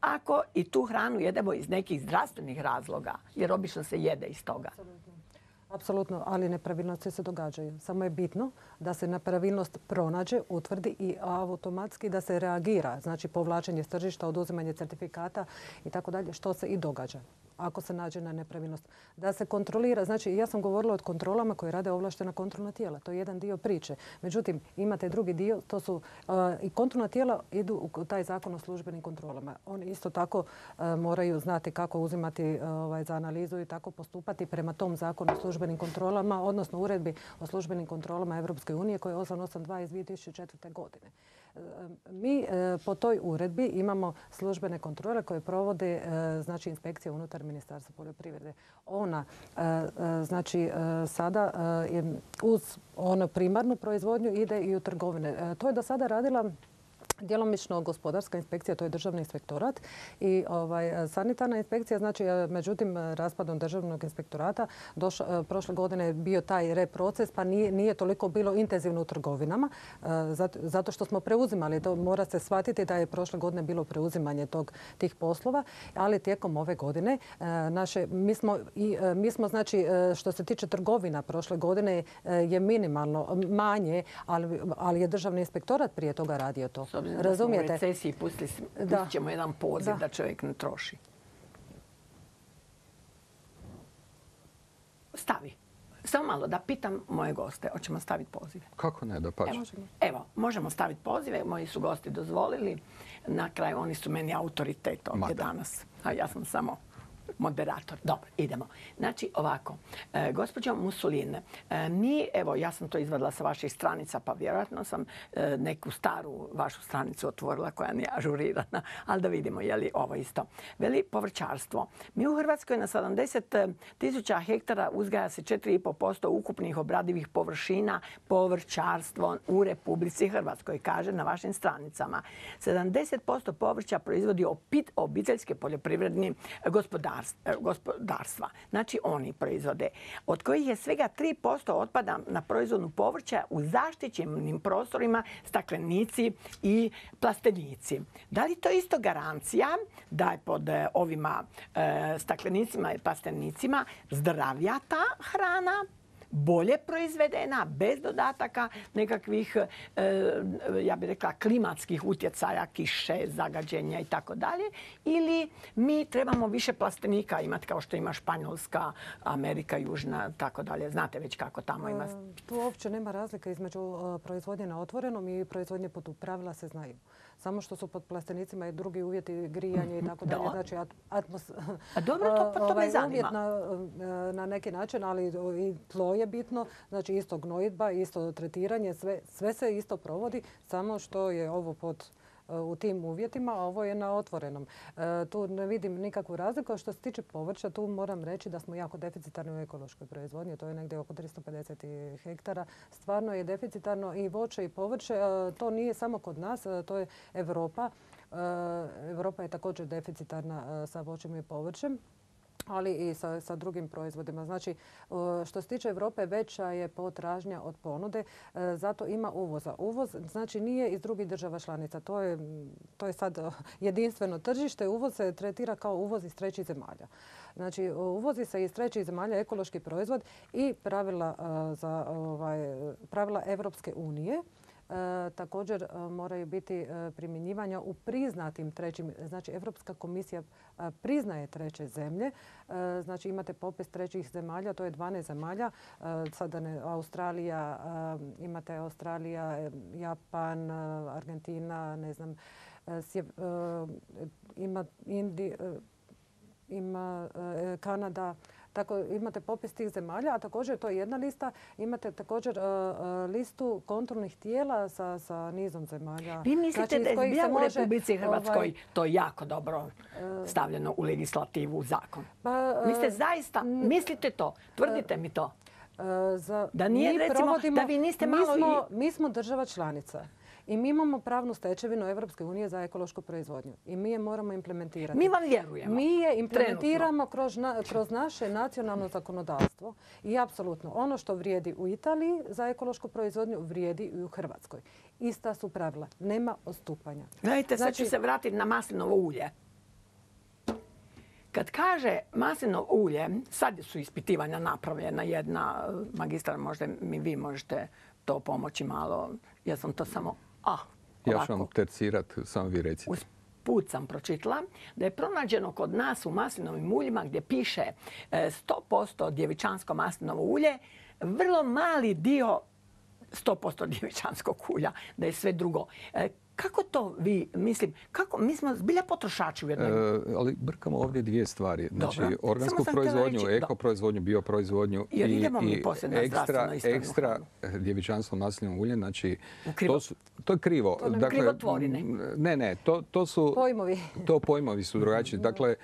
ako i tu hranu jedemo iz nekih zdravstvenih razloga, jer obično se jede iz toga. Apsolutno, ali nepravilnosti se događaju. Samo je bitno da se nepravilnost pronađe, utvrdi i automatski da se reagira. Znači povlačenje s tržišta, oduzimanje certifikata i tako dalje, što se i događa ako se nađe na nepravilnost. Da se kontrolira, znači ja sam govorila o kontrolama koje rade ovlaštena kontrolna tijela. To je jedan dio priče. Međutim, imate drugi dio, to su uh, i kontrolna tijela idu u taj zakon o službenim kontrolama. Oni isto tako uh, moraju znati kako uzimati uh, ovaj, za analizu i tako postupati prema tom zakonu o službenim kontrolama, odnosno uredbi o službenim kontrolama Europske unije koja je osam osam dva iz dvije tisuće četvrte. godine. Mi po toj uredbi imamo službene kontrole koje provode znači inspekcija unutar Ministarstva poljoprivrede. Ona znači sada uz onu primarnu proizvodnju ide i u trgovine. To je do sada radila djelomično gospodarska inspekcija, to je državni inspektorat i ovaj, sanitarna inspekcija, znači međutim raspadom državnog inspektorata došlo, prošle godine je bio taj reproces pa nije, nije toliko bilo intenzivno u trgovinama zato, zato što smo preuzimali, to mora se shvatiti da je prošle godine bilo preuzimanje tog, tih poslova, ali tijekom ove godine naše, mi smo, i, mi smo znači što se tiče trgovina prošle godine je minimalno manje, ali, ali je državni inspektorat prije toga radio to. Razumijete? U recesiji pustit ćemo jedan poziv da. da čovjek ne troši. Stavi. Samo malo da pitam moje goste. Hoćemo staviti pozive? Kako ne, da pače. Evo, evo, možemo staviti pozive. Moji su gosti dozvolili. Na kraju oni su meni autoritet ovdje danas. A ja sam samo moderator. Dobro, idemo. Znači, ovako. E, gospođo Mussolini, e, mi, evo, ja sam to izvadila sa vaših stranica, pa vjerojatno sam e, neku staru vašu stranicu otvorila koja nije ažurirana, ali da vidimo je li ovo isto. Veli povrćarstvo. Mi u Hrvatskoj na sedamdeset tisuća hektara uzgaja se četiri i pol posto ukupnih obradivih površina povrćarstvo u Republici Hrvatskoj, kaže na vašim stranicama. sedamdeset posto povrća proizvodi opit, obiteljske poljoprivredni gospodarstvo. gospodarstva. Znači oni proizvode, od kojih je svega tri posto otpada na proizvodnu povrća u zaštićenim prostorima staklenici i plastenici. Da li to isto garancija da je pod ovima e, staklenicima i plastenicima zdravija ta hrana, bolje proizvedena, bez dodataka nekakvih, ja bih rekla, klimatskih utjecaja, kiše, zagađenja i tako dalje. Ili mi trebamo više plastenika imati kao što ima Španjolska, Amerika, Južna, tako dalje. Znate već kako tamo ima. Tu uopće nema razlika između proizvodnje na otvorenom i proizvodnje pod pravila se znaju. Samo što su pod plastenicima i drugi uvjeti grijanje i tako dalje. Znači, atmos... A dobro, to, pa to me zanima. Uvjet na, na neki način, ali i tlo je bitno. Znači, isto gnojidba, isto tretiranje, sve, sve se isto provodi, samo što je ovo pod u tim uvjetima, a ovo je na otvorenom. E, tu ne vidim nikakvu razliku. Što se tiče povrća, tu moram reći da smo jako deficitarni u ekološkoj proizvodnji. To je negdje oko tristo pedeset hektara. Stvarno je deficitarno i voće i povrće. E, to nije samo kod nas, e, to je Europa. E, Europa je također deficitarna e, sa voćem i povrćem, ali i sa, sa drugim proizvodima. Znači, što se tiče Europe, veća je potražnja od ponude, zato ima uvoza. Uvoz znači nije iz drugih država članica. To je, to je sad jedinstveno tržište. Uvoz se tretira kao uvoz iz trećih zemalja. Znači, uvozi se iz trećih zemalja ekološki proizvod i pravila, za, ovaj, pravila Evropske unije. E, također e, moraju biti e, primjenjivanja u priznatim trećim, znači Evropska komisija e, priznaje treće zemlje, e, znači imate popis trećih zemalja, to je dvanaest zemalja, e, sada ne, Australija, e, imate Australija, Japan, Argentina, ne znam, e, sje, e, ima Indi, e, ima e, Kanada. Tako imate popis tih zemalja, a također to je jedna lista. Imate također uh, listu kontrolnih tijela sa, sa nizom zemalja. Vi mislite znači, da je zbilja u Republici Hrvatskoj ovaj, to jako dobro stavljeno u legislativu, u zakon? Pa, uh, mislite zaista, mislite to? Tvrdite uh, mi to. Uh, za, da nije, recimo, da vi niste malo... Mi smo, i... mi smo država članica. I mi imamo pravnu stečevinu Evropske unije za ekološku proizvodnju. I mi je moramo implementirati. Mi vam vjerujemo. Mi je implementiramo kroz, na, kroz naše nacionalno zakonodavstvo. I apsolutno ono što vrijedi u Italiji za ekološku proizvodnju vrijedi i u Hrvatskoj. Ista su pravila. Nema odstupanja. Gledajte, sad ću se vratiti na maslinovo ulje. Kad kaže maslinovo ulje, sad su ispitivanja napravljena. Jedna magistra, možda mi vi možete to pomoći malo. Ja sam to samo... Ah, ja ću vam tercirat, samo vi recite. Usput sam pročitala da je pronađeno kod nas u maslinovim uljima gdje piše sto posto djevičansko maslinovo ulje, vrlo mali dio sto posto djevičanskog ulja, da je sve drugo. Kako to vi, mislim, kako, mi smo zbilja potrošači u jednoj... E, ali brkamo ovdje dvije stvari. Znači, dobro. Organsku proizvodnju, ekoproizvodnju, bioproizvodnju i, i ekstra, ekstra djevičanstvo maslinovo ulje. Znači, to, su, to je krivo. To dakle, krivotvorine. Ne, ne, to, to su... Pojmovi. To pojmovi su drugačiji. Dakle,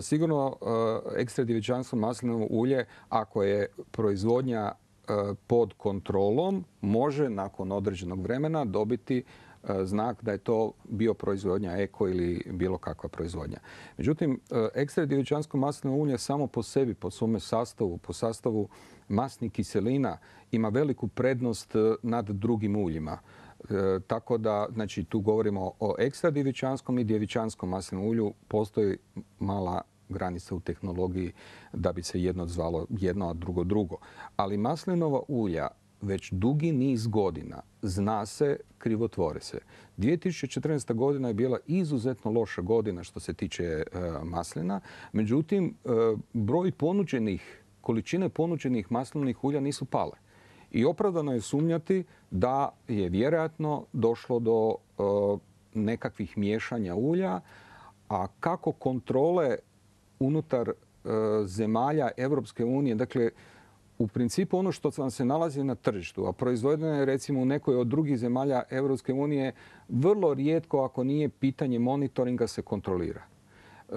sigurno ekstra djevičanstvo maslinovo ulje, ako je proizvodnja pod kontrolom, može nakon određenog vremena dobiti znak da je to bioproizvodnja, eko ili bilo kakva proizvodnja. Međutim, ekstra djevičansko maslinovo ulje samo po sebi, po svome sastavu, po sastavu masnih kiselina ima veliku prednost nad drugim uljima. E, tako da, znači, tu govorimo o ekstra djevičanskom i djevičanskom maslinovom ulju. Postoji mala granica u tehnologiji da bi se jedno zvalo jedno, a drugo drugo. Ali maslinova ulja već dugi niz godina zna se, krivotvore se. dvije tisuće četrnaesta. godina je bila izuzetno loša godina što se tiče e, maslina. Međutim, e, broj ponuđenih, količine ponuđenih maslinovih ulja nisu pale. I opravdano je sumnjati da je vjerojatno došlo do e, nekakvih miješanja ulja, a kako kontrole unutar e, zemalja Europske unije, dakle, u principu ono što vam se nalazi na tržištu, a proizvedeno je recimo u nekoj od drugih zemalja Europske unije, vrlo rijetko, ako nije pitanje monitoringa, se kontrolira. E,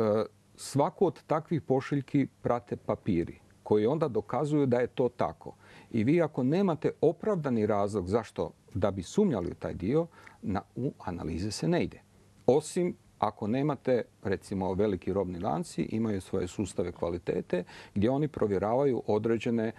svaku od takvih pošiljki prate papiri koji onda dokazuju da je to tako. I vi ako nemate opravdani razlog zašto da bi sumnjali u taj dio, na, u analize se ne ide. Osim ako nemate, recimo, veliki robni lanci, imaju svoje sustave kvalitete gdje oni provjeravaju određene e,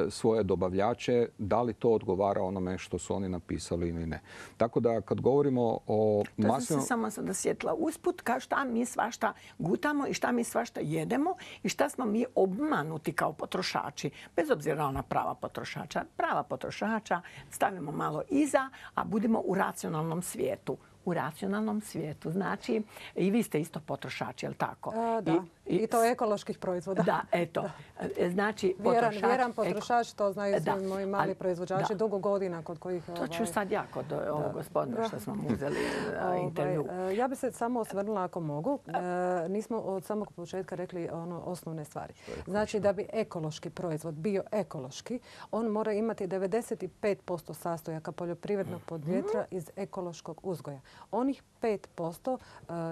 svoje dobavljače da li to odgovara onome što su oni napisali ili ne. Tako da kad govorimo o maslinom... To sam se samo sada sjetila usput, kao šta mi svašta gutamo i šta mi svašta jedemo i šta smo mi obmanuti kao potrošači. Bez obzira na prava potrošača. Prava potrošača stavimo malo iza, a budemo u racionalnom svijetu. U racionalnom svijetu. Znači, i vi ste isto potrošači, je li tako? A, da. I, I to ekoloških proizvoda. Da, eto. Da. Znači, vjeran, potrošač... Vjeran potrošač, to znaju da. svi moji mali proizvođači, da. dugo godina kod kojih... To ću sad ja kod ovog gospodina što smo mu uzeli intervju. Ja bi se samo osvrnula ako mogu. E, nismo od samog početka rekli ono osnovne stvari. Znači, da bi ekološki proizvod bio ekološki, on mora imati devedeset pet posto sastojaka poljoprivrednog podrijetla iz ekološkog uzgoja. Onih pet posto,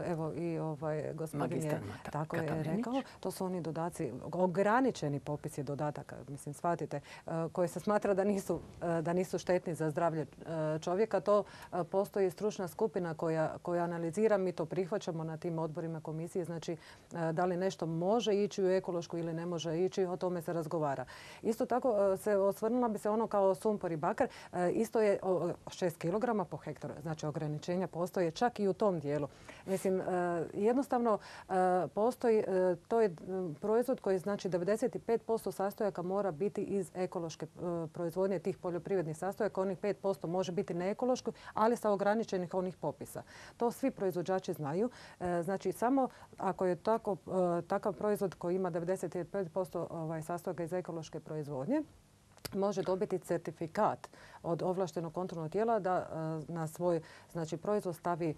evo i ovaj gospodin je tako je rekao, to su oni dodaci, ograničeni popisi dodataka, mislim, shvatite, koji se smatra da nisu, da nisu štetni za zdravlje čovjeka. To postoji stručna skupina koja, koja analizira, mi to prihvaćamo na tim odborima komisije, znači da li nešto može ići u ekološku ili ne može ići, o tome se razgovara. Isto tako se osvrnula bi se ono kao sumpor i bakar, isto je šest kilograma po hektaru, znači ograničenja postoje čak i u tom dijelu. Mislim, jednostavno postoji, to je proizvod koji znači devedeset pet posto sastojaka mora biti iz ekološke proizvodnje tih poljoprivrednih sastojaka. Onih pet posto može biti neekološko, ali sa ograničenih onih popisa. To svi proizvođači znaju. Znači, samo ako je tako, takav proizvod koji ima devedeset pet posto ovaj, sastojaka iz ekološke proizvodnje, može dobiti certifikat od ovlaštenog kontrolnog tijela da na svoj znači, proizvod stavi,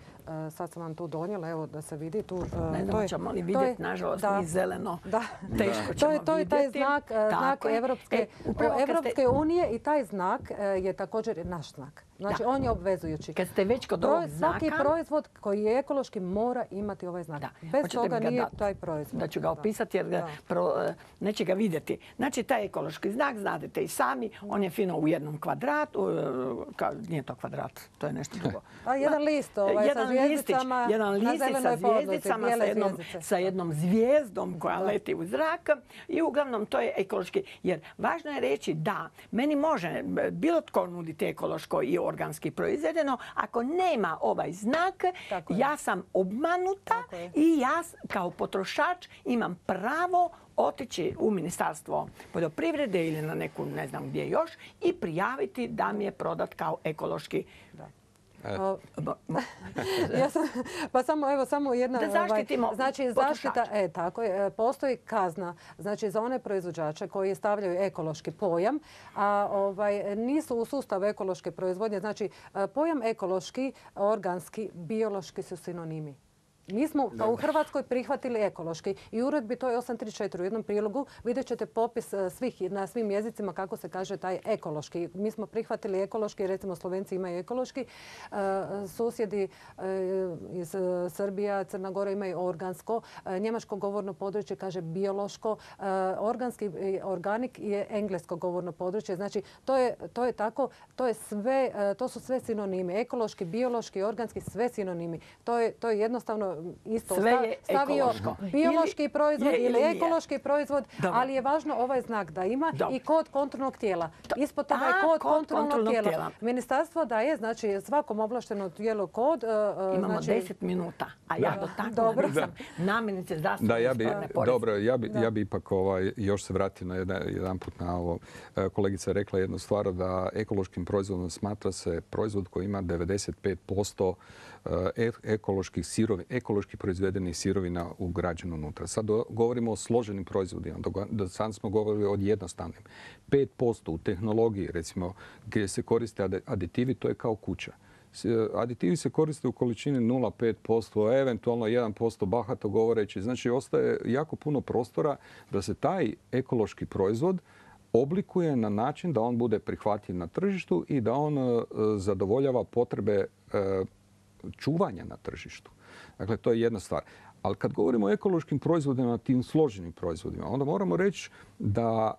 sad sam vam tu donijela, evo da se vidi tu. Ne znam, ćemo li vidjeti, nažalost, mi zeleno. Da, teško ćemo to je, to je taj vidjeti. znak, znak Evropske, e, Evropske unije i taj znak je također naš znak. Znači, da. On je obvezujući. Kad ste već kod ovog znaka... Svaki proizvod koji je ekološki mora imati ovaj znak. Da. Bez Hoćete toga nije dat. Taj proizvod. Da ću ga opisati jer ga pro, neće ga vidjeti. Znači, taj ekološki znak, znate i sami, on je fino u jednom kvadratu, ka, nije to kvadrat, to je nešto drugo. A jedan list ovaj, jedan sa zvijezdicama listić, jedan listić sa zvijezdicama, sa jednom, zvijezdice. sa jednom zvijezdom koja da. Leti u zrak i uglavnom to je ekološki. Jer važno je reći da meni može bilo tko nuditi ekološko i organski proizvedeno, ako nema ovaj znak, ja sam obmanuta i ja kao potrošač imam pravo otići u Ministarstvo poljoprivrede ili na neku, ne znam gdje još, i prijaviti da mi je prodat kao ekološki. Da. O, ja sam, pa samo, evo, samo jedna... Da zaštitimo ovaj, znači, zaštita, e, tako je, postoji kazna znači, za one proizvođače koji stavljaju ekološki pojam, a ovaj, nisu u sustavu ekološke proizvodnje. Znači, pojam ekološki, organski, biološki su sinonimi. Mi smo u Hrvatskoj prihvatili ekološki i u uredbi to je osam trideset četiri u jednom prilogu. Vidjet ćete popis svih na svim jezicima kako se kaže taj ekološki. Mi smo prihvatili ekološki, recimo Slovenci imaju ekološki, susjedi iz Srbija, Crna Gora imaju organsko, njemačko govorno područje kaže biološko, organski organik je englesko govorno područje. Znači to je, to je tako, to je sve, to su sve sinonimi. Ekološki, biološki, organski, sve sinonimi. To je, to je jednostavno isto. Sve je stavio ekološko. biološki proizvod ili, ili ili ekološki proizvod, Dobro. ali je važno ovaj znak da ima Dobro. i kod kontrolnog tijela. Ispod toga je A, kod, kod kontrolnog, kontrolnog tijela. tijela. Ministarstvo daje, znači svakom ovlaštenom tijelu kod. Uh, Imamo znači... deset minuta, a ja do tako Dobro. nisam namirnice zdravstvene Da, ja bi, ispravne poreze. dobro, ja bi, ja bi ipak ovaj, još se vratio na jedan, jedan put na ovo. Kolegica je rekla jednu stvar, da ekološkim proizvodom smatra se proizvod koji ima devedeset pet posto ekoloških sirovina, ekološki proizvedenih sirovina ugrađeno unutra. Sad govorimo o složenim proizvodima, do sad smo govorili o jednostavnim. pet posto u tehnologiji, recimo, gdje se koriste aditivi, to je kao kuća. Aditivi se koriste u količini nula zarez pet posto, eventualno jedan posto bahato govoreći. Znači, ostaje jako puno prostora da se taj ekološki proizvod oblikuje na način da on bude prihvatljiv na tržištu i da on zadovoljava potrebe čuvanja na tržištu. Dakle, to je jedna stvar. Ali kad govorimo o ekološkim proizvodima, tim složenim proizvodima, onda moramo reći da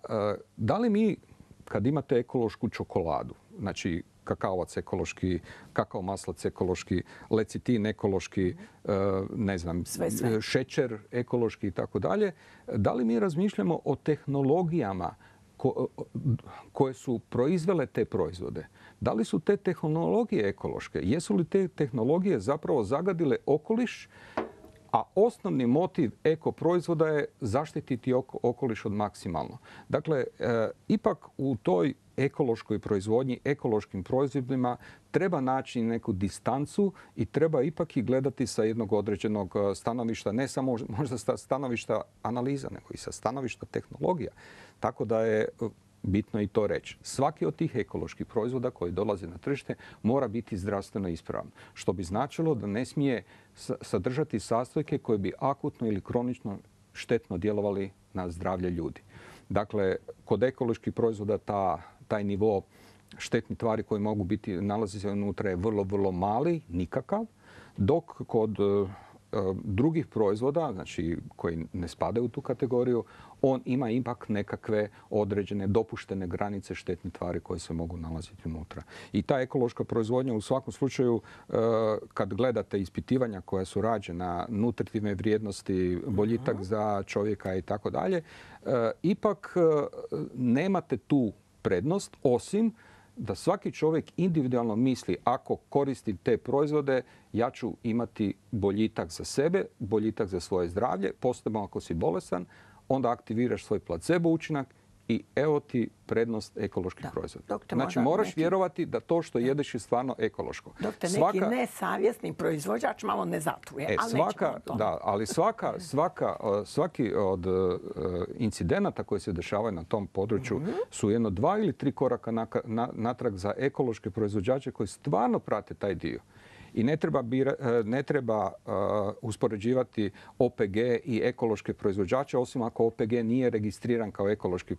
da li mi, kad imate ekološku čokoladu, znači kakaovac ekološki, kakao maslac ekološki, lecitin ekološki, ne znam, sve, sve. šećer ekološki i tako dalje, da li mi razmišljamo o tehnologijama ko, koje su proizvele te proizvode? Da li su te tehnologije ekološke? Jesu li te tehnologije zapravo zagadile okoliš? A osnovni motiv eko proizvoda je zaštititi okoliš od maksimalno. Dakle, e, ipak u toj ekološkoj proizvodnji, ekološkim proizvodima treba naći neku distancu i treba ipak i gledati sa jednog određenog stanovišta, ne samo možda sa stanovišta analiza, nego i sa stanovišta tehnologija. Tako da je bitno i to reći. Svaki od tih ekoloških proizvoda koji dolaze na tržište mora biti zdravstveno ispravan. Što bi značilo da ne smije sadržati sastojke koje bi akutno ili kronično štetno djelovali na zdravlje ljudi. Dakle, kod ekoloških proizvoda ta, taj nivo štetnih tvari koji mogu biti nalazi se unutra je vrlo, vrlo mali, nikakav, dok kod drugih proizvoda, znači koji ne spadaju u tu kategoriju, on ima ipak nekakve određene dopuštene granice štetnih tvari koje se mogu nalaziti unutra. I ta ekološka proizvodnja u svakom slučaju, kad gledate ispitivanja koja su rađena, nutritivne vrijednosti, boljitak za čovjeka i tako dalje, ipak nemate tu prednost, osim da svaki čovjek individualno misli ako koristim te proizvode, ja ću imati boljitak za sebe, boljitak za svoje zdravlje, posebno ako si bolestan, onda aktiviraš svoj placebo učinak i evo ti prednost ekoloških proizvoda. Doktor, znači moraš neki... vjerovati da to što jedeš je stvarno ekološko. Doktor, svaka... neki nesavjesni proizvođač malo ne zatuje. E, ali svaka, da, ali svaka, svaka, svaki od uh, incidenata koji se dešavaju na tom području mm-hmm. su jedno dva ili tri koraka na, na, natrag za ekološke proizvođače koji stvarno prate taj dio. I ne treba, bira, ne treba uh, uspoređivati O P G i ekološke proizvođače, osim ako O P G nije registriran kao ekološki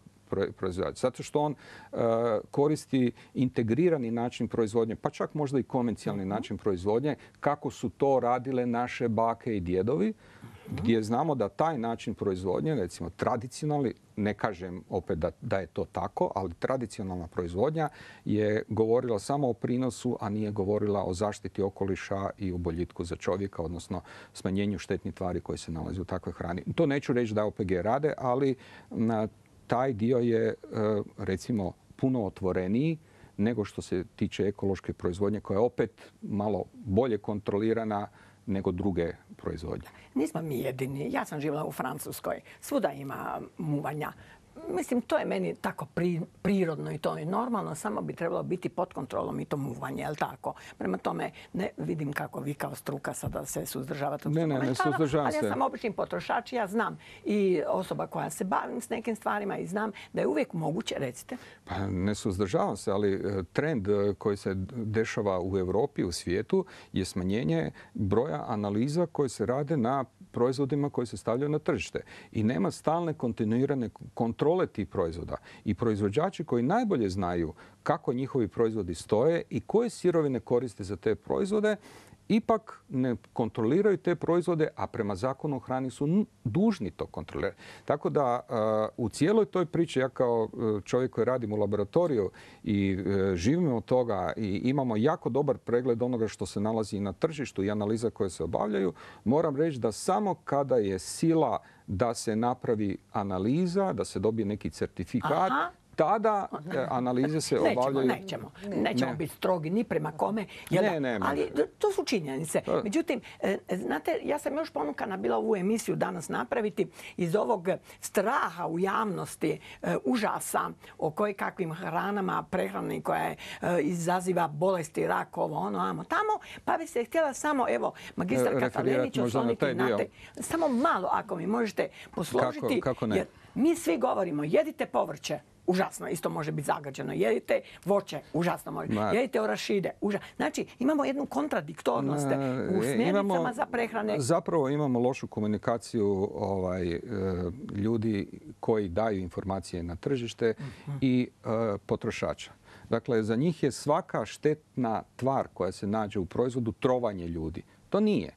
proizvođač. Zato što on uh, koristi integrirani način proizvodnje, pa čak možda i konvencionalni mm-hmm. način proizvodnje, kako su to radile naše bake i djedovi, mm-hmm. gdje znamo da taj način proizvodnje, recimo tradicionalni, ne kažem opet da, da je to tako, ali tradicionalna proizvodnja je govorila samo o prinosu, a nije govorila o zaštiti okoliša i o boljitku za čovjeka, odnosno smanjenju štetnih tvari koje se nalaze u takvoj hrani. To neću reći da O P G rade, ali na taj dio je, recimo, puno otvoreniji nego što se tiče ekološke proizvodnje, koja je opet malo bolje kontrolirana nego druge proizvodnje. Nismo mi jedini. Ja sam živjela u Francuskoj. Svuda ima muvanja. mislim, to je meni tako pri, prirodno i to je normalno, samo bi trebalo biti pod kontrolom i to muvanje, je li tako? Prema tome, ne vidim kako vi kao struka sada se suzdržavate od ne, ne, ne suzdržavam ali se. ja sam obični potrošač, ja znam i osoba koja se bavim s nekim stvarima i znam da je uvijek moguće, recite. Pa ne suzdržavam se, ali trend koji se dešava u Europi, u svijetu, je smanjenje broja analiza koje se rade na proizvodima koji se stavljaju na tržište. I nema stalne kontinuirane kontrole tih proizvoda. I proizvođači koji najbolje znaju kako njihovi proizvodi stoje i koje sirovine koriste za te proizvode, ipak ne kontroliraju te proizvode, a prema zakonu o hrani su dužni to kontrolirati. Tako da u cijeloj toj priči, ja kao čovjek koji radim u laboratoriju i živimo od toga i imamo jako dobar pregled onoga što se nalazi na tržištu i analiza koje se obavljaju, moram reći da samo kada je sila da se napravi analiza, da se dobije neki certifikat, aha, tada analize se obavljaju. Nećemo, nećemo. Nećemo biti strogi ni prema kome. Ne, ne, ali to su činjenice. Međutim, znate, ja sam još ponukana bila ovu emisiju danas napraviti iz ovog straha u javnosti, užasa o koje kakvim hranama, prehrani koja izaziva bolesti, rak, ovo, ono, amo, tamo. Pa bi se htjela samo, evo, magistar Katalenić osloniti na te. Samo malo, ako mi možete posložiti. Kako, kako ne? Jer mi svi govorimo, jedite povrće. Užasno, isto može biti zagađeno. Jedite voće, užasno može. Ma. Jedite orašide, užasno. Znači, imamo jednu kontradiktornost u smjernicama imamo, za prehrane. Zapravo imamo lošu komunikaciju ovaj, ljudi koji daju informacije na tržište uh-huh. i uh, potrošača. Dakle, za njih je svaka štetna tvar koja se nađe u proizvodu trovanje ljudi. To nije.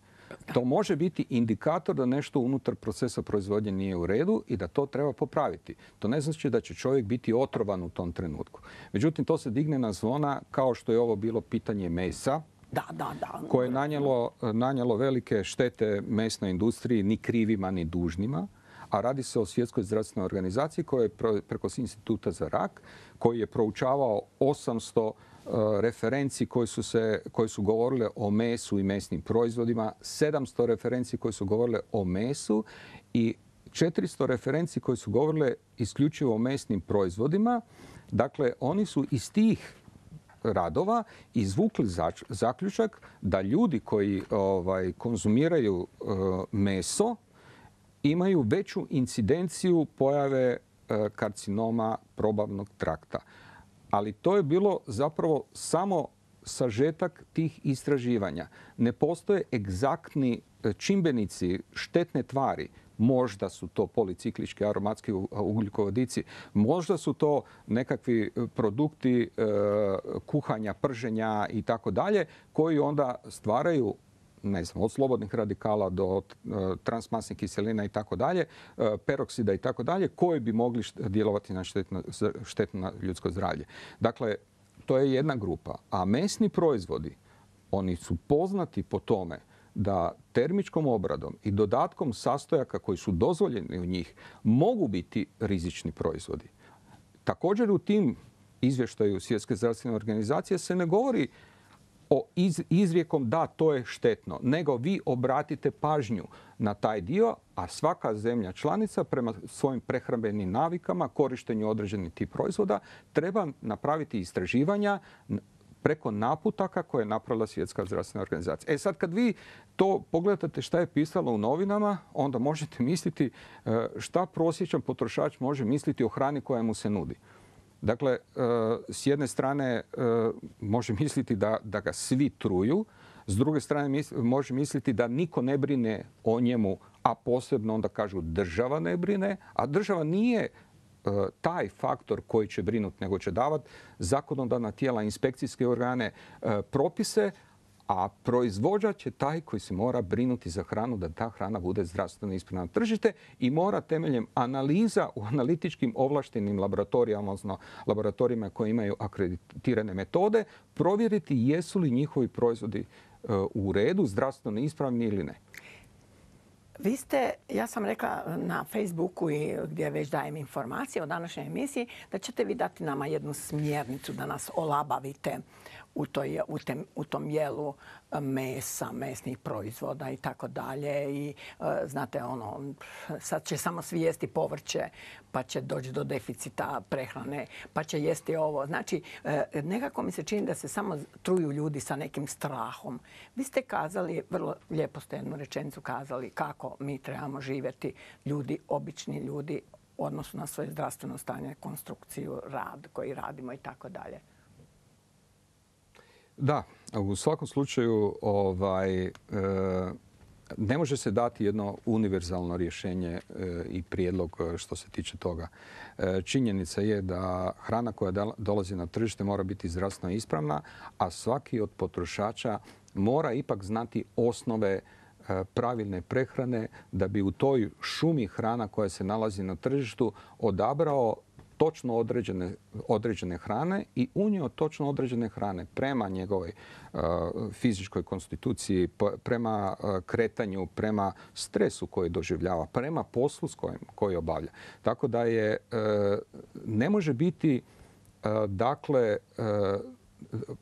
To može biti indikator da nešto unutar procesa proizvodnje nije u redu i da to treba popraviti. To ne znači da će čovjek biti otrovan u tom trenutku. Međutim, to se digne na zvona kao što je ovo bilo pitanje mesa. Da, da, da. Koje je nanijelo, nanijelo velike štete mesnoj industriji, ni krivima, ni dužnima. A radi se o Svjetskoj zdravstvenoj organizaciji koja je preko Instituta za rak, koji je proučavao osamsto referenci koji su, se, koji su govorile o mesu i mesnim proizvodima, sedamsto referenci koji su govorile o mesu i četiristo referenci koji su govorile isključivo o mesnim proizvodima. Dakle, oni su iz tih radova izvukli zaključak da ljudi koji ovaj, konzumiraju uh, meso imaju veću incidenciju pojave uh, karcinoma probavnog trakta. Ali to je bilo zapravo samo sažetak tih istraživanja. Ne postoje egzaktni čimbenici, štetne tvari. Možda su to policiklički aromatski ugljikovodici, možda su to nekakvi produkti e, kuhanja, prženja i tako dalje, koji onda stvaraju, ne znam, od slobodnih radikala do e, transmasnih kiselina i tako dalje, e, peroksida i tako dalje, koji bi mogli djelovati na štetno, štetno na ljudsko zdravlje. Dakle, to je jedna grupa. A mesni proizvodi, oni su poznati po tome da termičkom obradom i dodatkom sastojaka koji su dozvoljeni u njih mogu biti rizični proizvodi. Također u tim izvještaju Svjetske zdravstvene organizacije se ne govori o iz, izrijekom da to je štetno, nego vi obratite pažnju na taj dio, a svaka zemlja članica prema svojim prehrambenim navikama, korištenju određenih tih proizvoda, treba napraviti istraživanja preko naputaka koje je napravila Svjetska zdravstvena organizacija. E sad kad vi to pogledate šta je pisalo u novinama, onda možete misliti šta prosječan potrošač može misliti o hrani koja mu se nudi. Dakle, s jedne strane može misliti da, da ga svi truju, s druge strane može misliti da niko ne brine o njemu, a posebno onda kažu država ne brine, a država nije taj faktor koji će brinuti, nego će davati zakonodavna tijela, inspekcijske organe, propise, a proizvođač je taj koji se mora brinuti za hranu da ta hrana bude zdravstveno ispravna na tržište i mora temeljem analiza u analitičkim ovlaštenim laboratorijama, odnosno laboratorijima koji imaju akreditirane metode, provjeriti jesu li njihovi proizvodi u redu, zdravstveno ispravni ili ne. Vi ste, ja sam rekla na Facebooku i gdje već dajem informacije o današnjoj emisiji, da ćete vi dati nama jednu smjernicu da nas olabavite u, toj, u, tem, u tom jelu mesa, mesnih proizvoda i tako dalje. I znate, ono, sad će samo svi jesti povrće, pa će doći do deficita prehrane, pa će jesti ovo. Znači, nekako mi se čini da se samo truju ljudi sa nekim strahom. Vi ste kazali, vrlo lijepo ste jednu rečenicu kazali, kako mi trebamo živjeti, ljudi, obični ljudi, u odnosu na svoje zdravstveno stanje, konstrukciju, rad koji radimo i tako dalje. Da, u svakom slučaju ovaj, e, ne može se dati jedno univerzalno rješenje e, i prijedlog što se tiče toga. E, činjenica je da hrana koja dolazi na tržište mora biti zdravstveno ispravna, a svaki od potrošača mora ipak znati osnove pravilne prehrane da bi u toj šumi hrana koja se nalazi na tržištu odabrao točno određene, određene hrane i unio točno određene hrane prema njegovoj uh, fizičkoj konstituciji, prema uh, kretanju, prema stresu koji doživljava, prema poslu s kojim, koji obavlja. Tako da je, uh, ne može biti, uh, dakle, uh,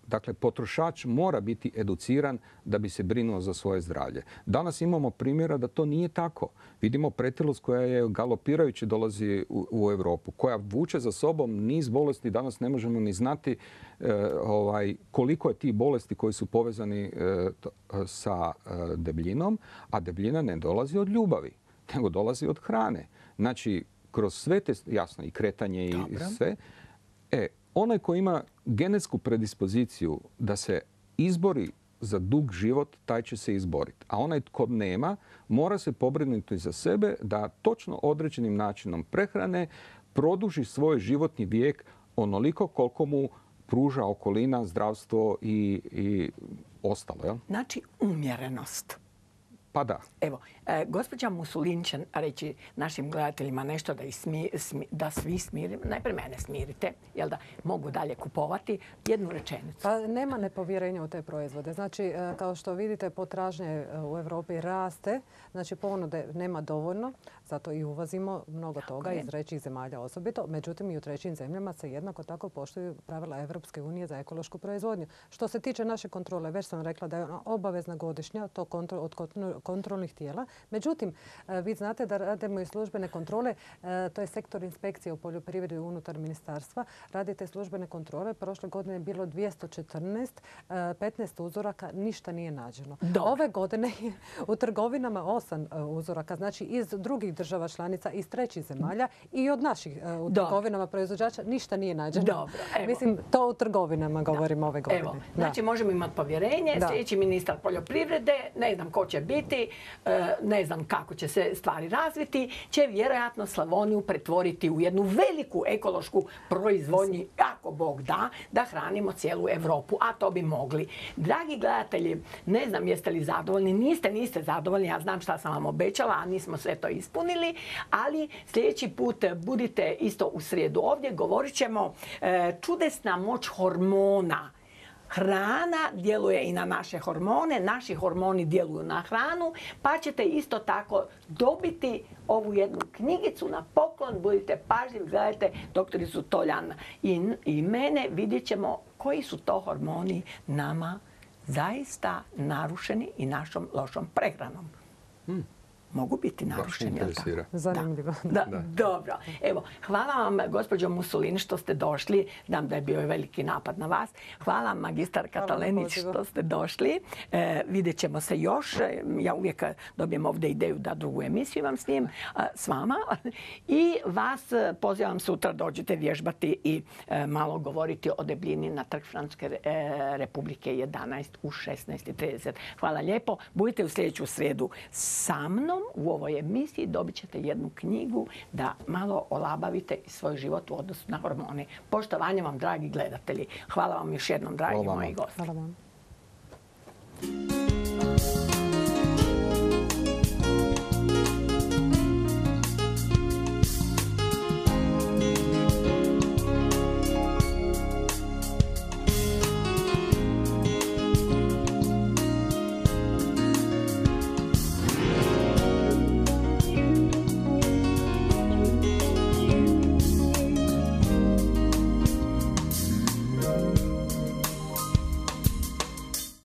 Dakle, potrošač mora biti educiran da bi se brinuo za svoje zdravlje. Danas imamo primjera da to nije tako. Vidimo pretilost koja je galopirajući dolazi u, u Europu, koja vuče za sobom niz bolesti. Danas ne možemo ni znati e, ovaj, koliko je tih bolesti koji su povezani e, to, sa e, debljinom, a debljina ne dolazi od ljubavi, nego dolazi od hrane. Znači, kroz sve te, jasno, i kretanje i Dobro. sve, e, onaj koji ima genetsku predispoziciju da se izbori za dug život, taj će se izboriti. A onaj tko nema, mora se pobrinuti za sebe da točno određenim načinom prehrane produži svoj životni vijek onoliko koliko mu pruža okolina, zdravstvo i, i ostalo. Jel? Znači umjerenost. Pa da. Evo, e, gospođa Musulin će reći našim gledateljima nešto da, smi, smi, da svi smirimo. Najprije mene smirite, jel da mogu dalje kupovati. Jednu rečenicu. Pa nema nepovjerenja u te proizvode. Znači, kao što vidite, potražnje u Europi raste. Znači, ponude nema dovoljno, zato i uvozimo mnogo toga iz trećih zemalja osobito. Međutim, i u trećim zemljama se jednako tako poštuju pravila Evropske unije za ekološku proizvodnju. Što se tiče naše kontrole, već sam rekla da je ona obavezna godišnja, to kontrol, od kontrolnih tijela. Međutim, vi znate da radimo i službene kontrole, to je sektor inspekcije u poljoprivredi unutar ministarstva. Radite službene kontrole. Prošle godine je bilo dvjesto četrnaest, petnaest uzoraka, ništa nije nađeno. Dobre. Ove godine je u trgovinama osam uzoraka, znači iz drugih država članica, iz trećih zemalja i od naših u Dobre. trgovinama proizvođača ništa nije nađeno. Dobro, evo. Mislim, to u trgovinama govorimo da. ove godine. Evo, znači možemo imati povjerenje. Da. Sljedeći ministar poljoprivrede, ne znam ko će biti, ne znam kako će se stvari razviti, će vjerojatno Slavoniju pretvoriti u jednu veliku ekološku proizvodnju, ako Bog da, da hranimo cijelu Europu, a to bi mogli. Dragi gledatelji, ne znam jeste li zadovoljni, niste, niste zadovoljni, ja znam šta sam vam obećala, a nismo sve to ispunili, ali sljedeći put budite isto u srijedu ovdje, govorit ćemo čudesna moć hormona. Hrana djeluje i na naše hormone, naši hormoni djeluju na hranu, pa ćete isto tako dobiti ovu jednu knjigicu na poklon. Budite pažljivi, gledajte doktoricu Toljan i, i mene, vidjet ćemo koji su to hormoni nama zaista narušeni i našom lošom prehranom. Hmm. Mogu biti narušeni. Zanimljivo. Da, da, dobro. Evo, hvala vam, gospođo Musulin, što ste došli. Znam da je bio veliki napad na vas. Hvala vam, magistar Katalenić, što ste došli. E, vidjet ćemo se još. Ja uvijek dobijem ovdje ideju da drugu emisiju vam snijem s vama. I vas pozivam sutra dođite vježbati i e, malo govoriti o debljini na Trg Francuske e, Republike jedanaest u šesnaest i trideset. Hvala lijepo. Budite u sljedeću srijedu sa mnom. U ovoj emisiji dobit ćete jednu knjigu da malo olabavite svoj život u odnosu na hormone. Poštovanje vam, dragi gledatelji. Hvala vam još jednom, dragi moji gosti. Hvala vam.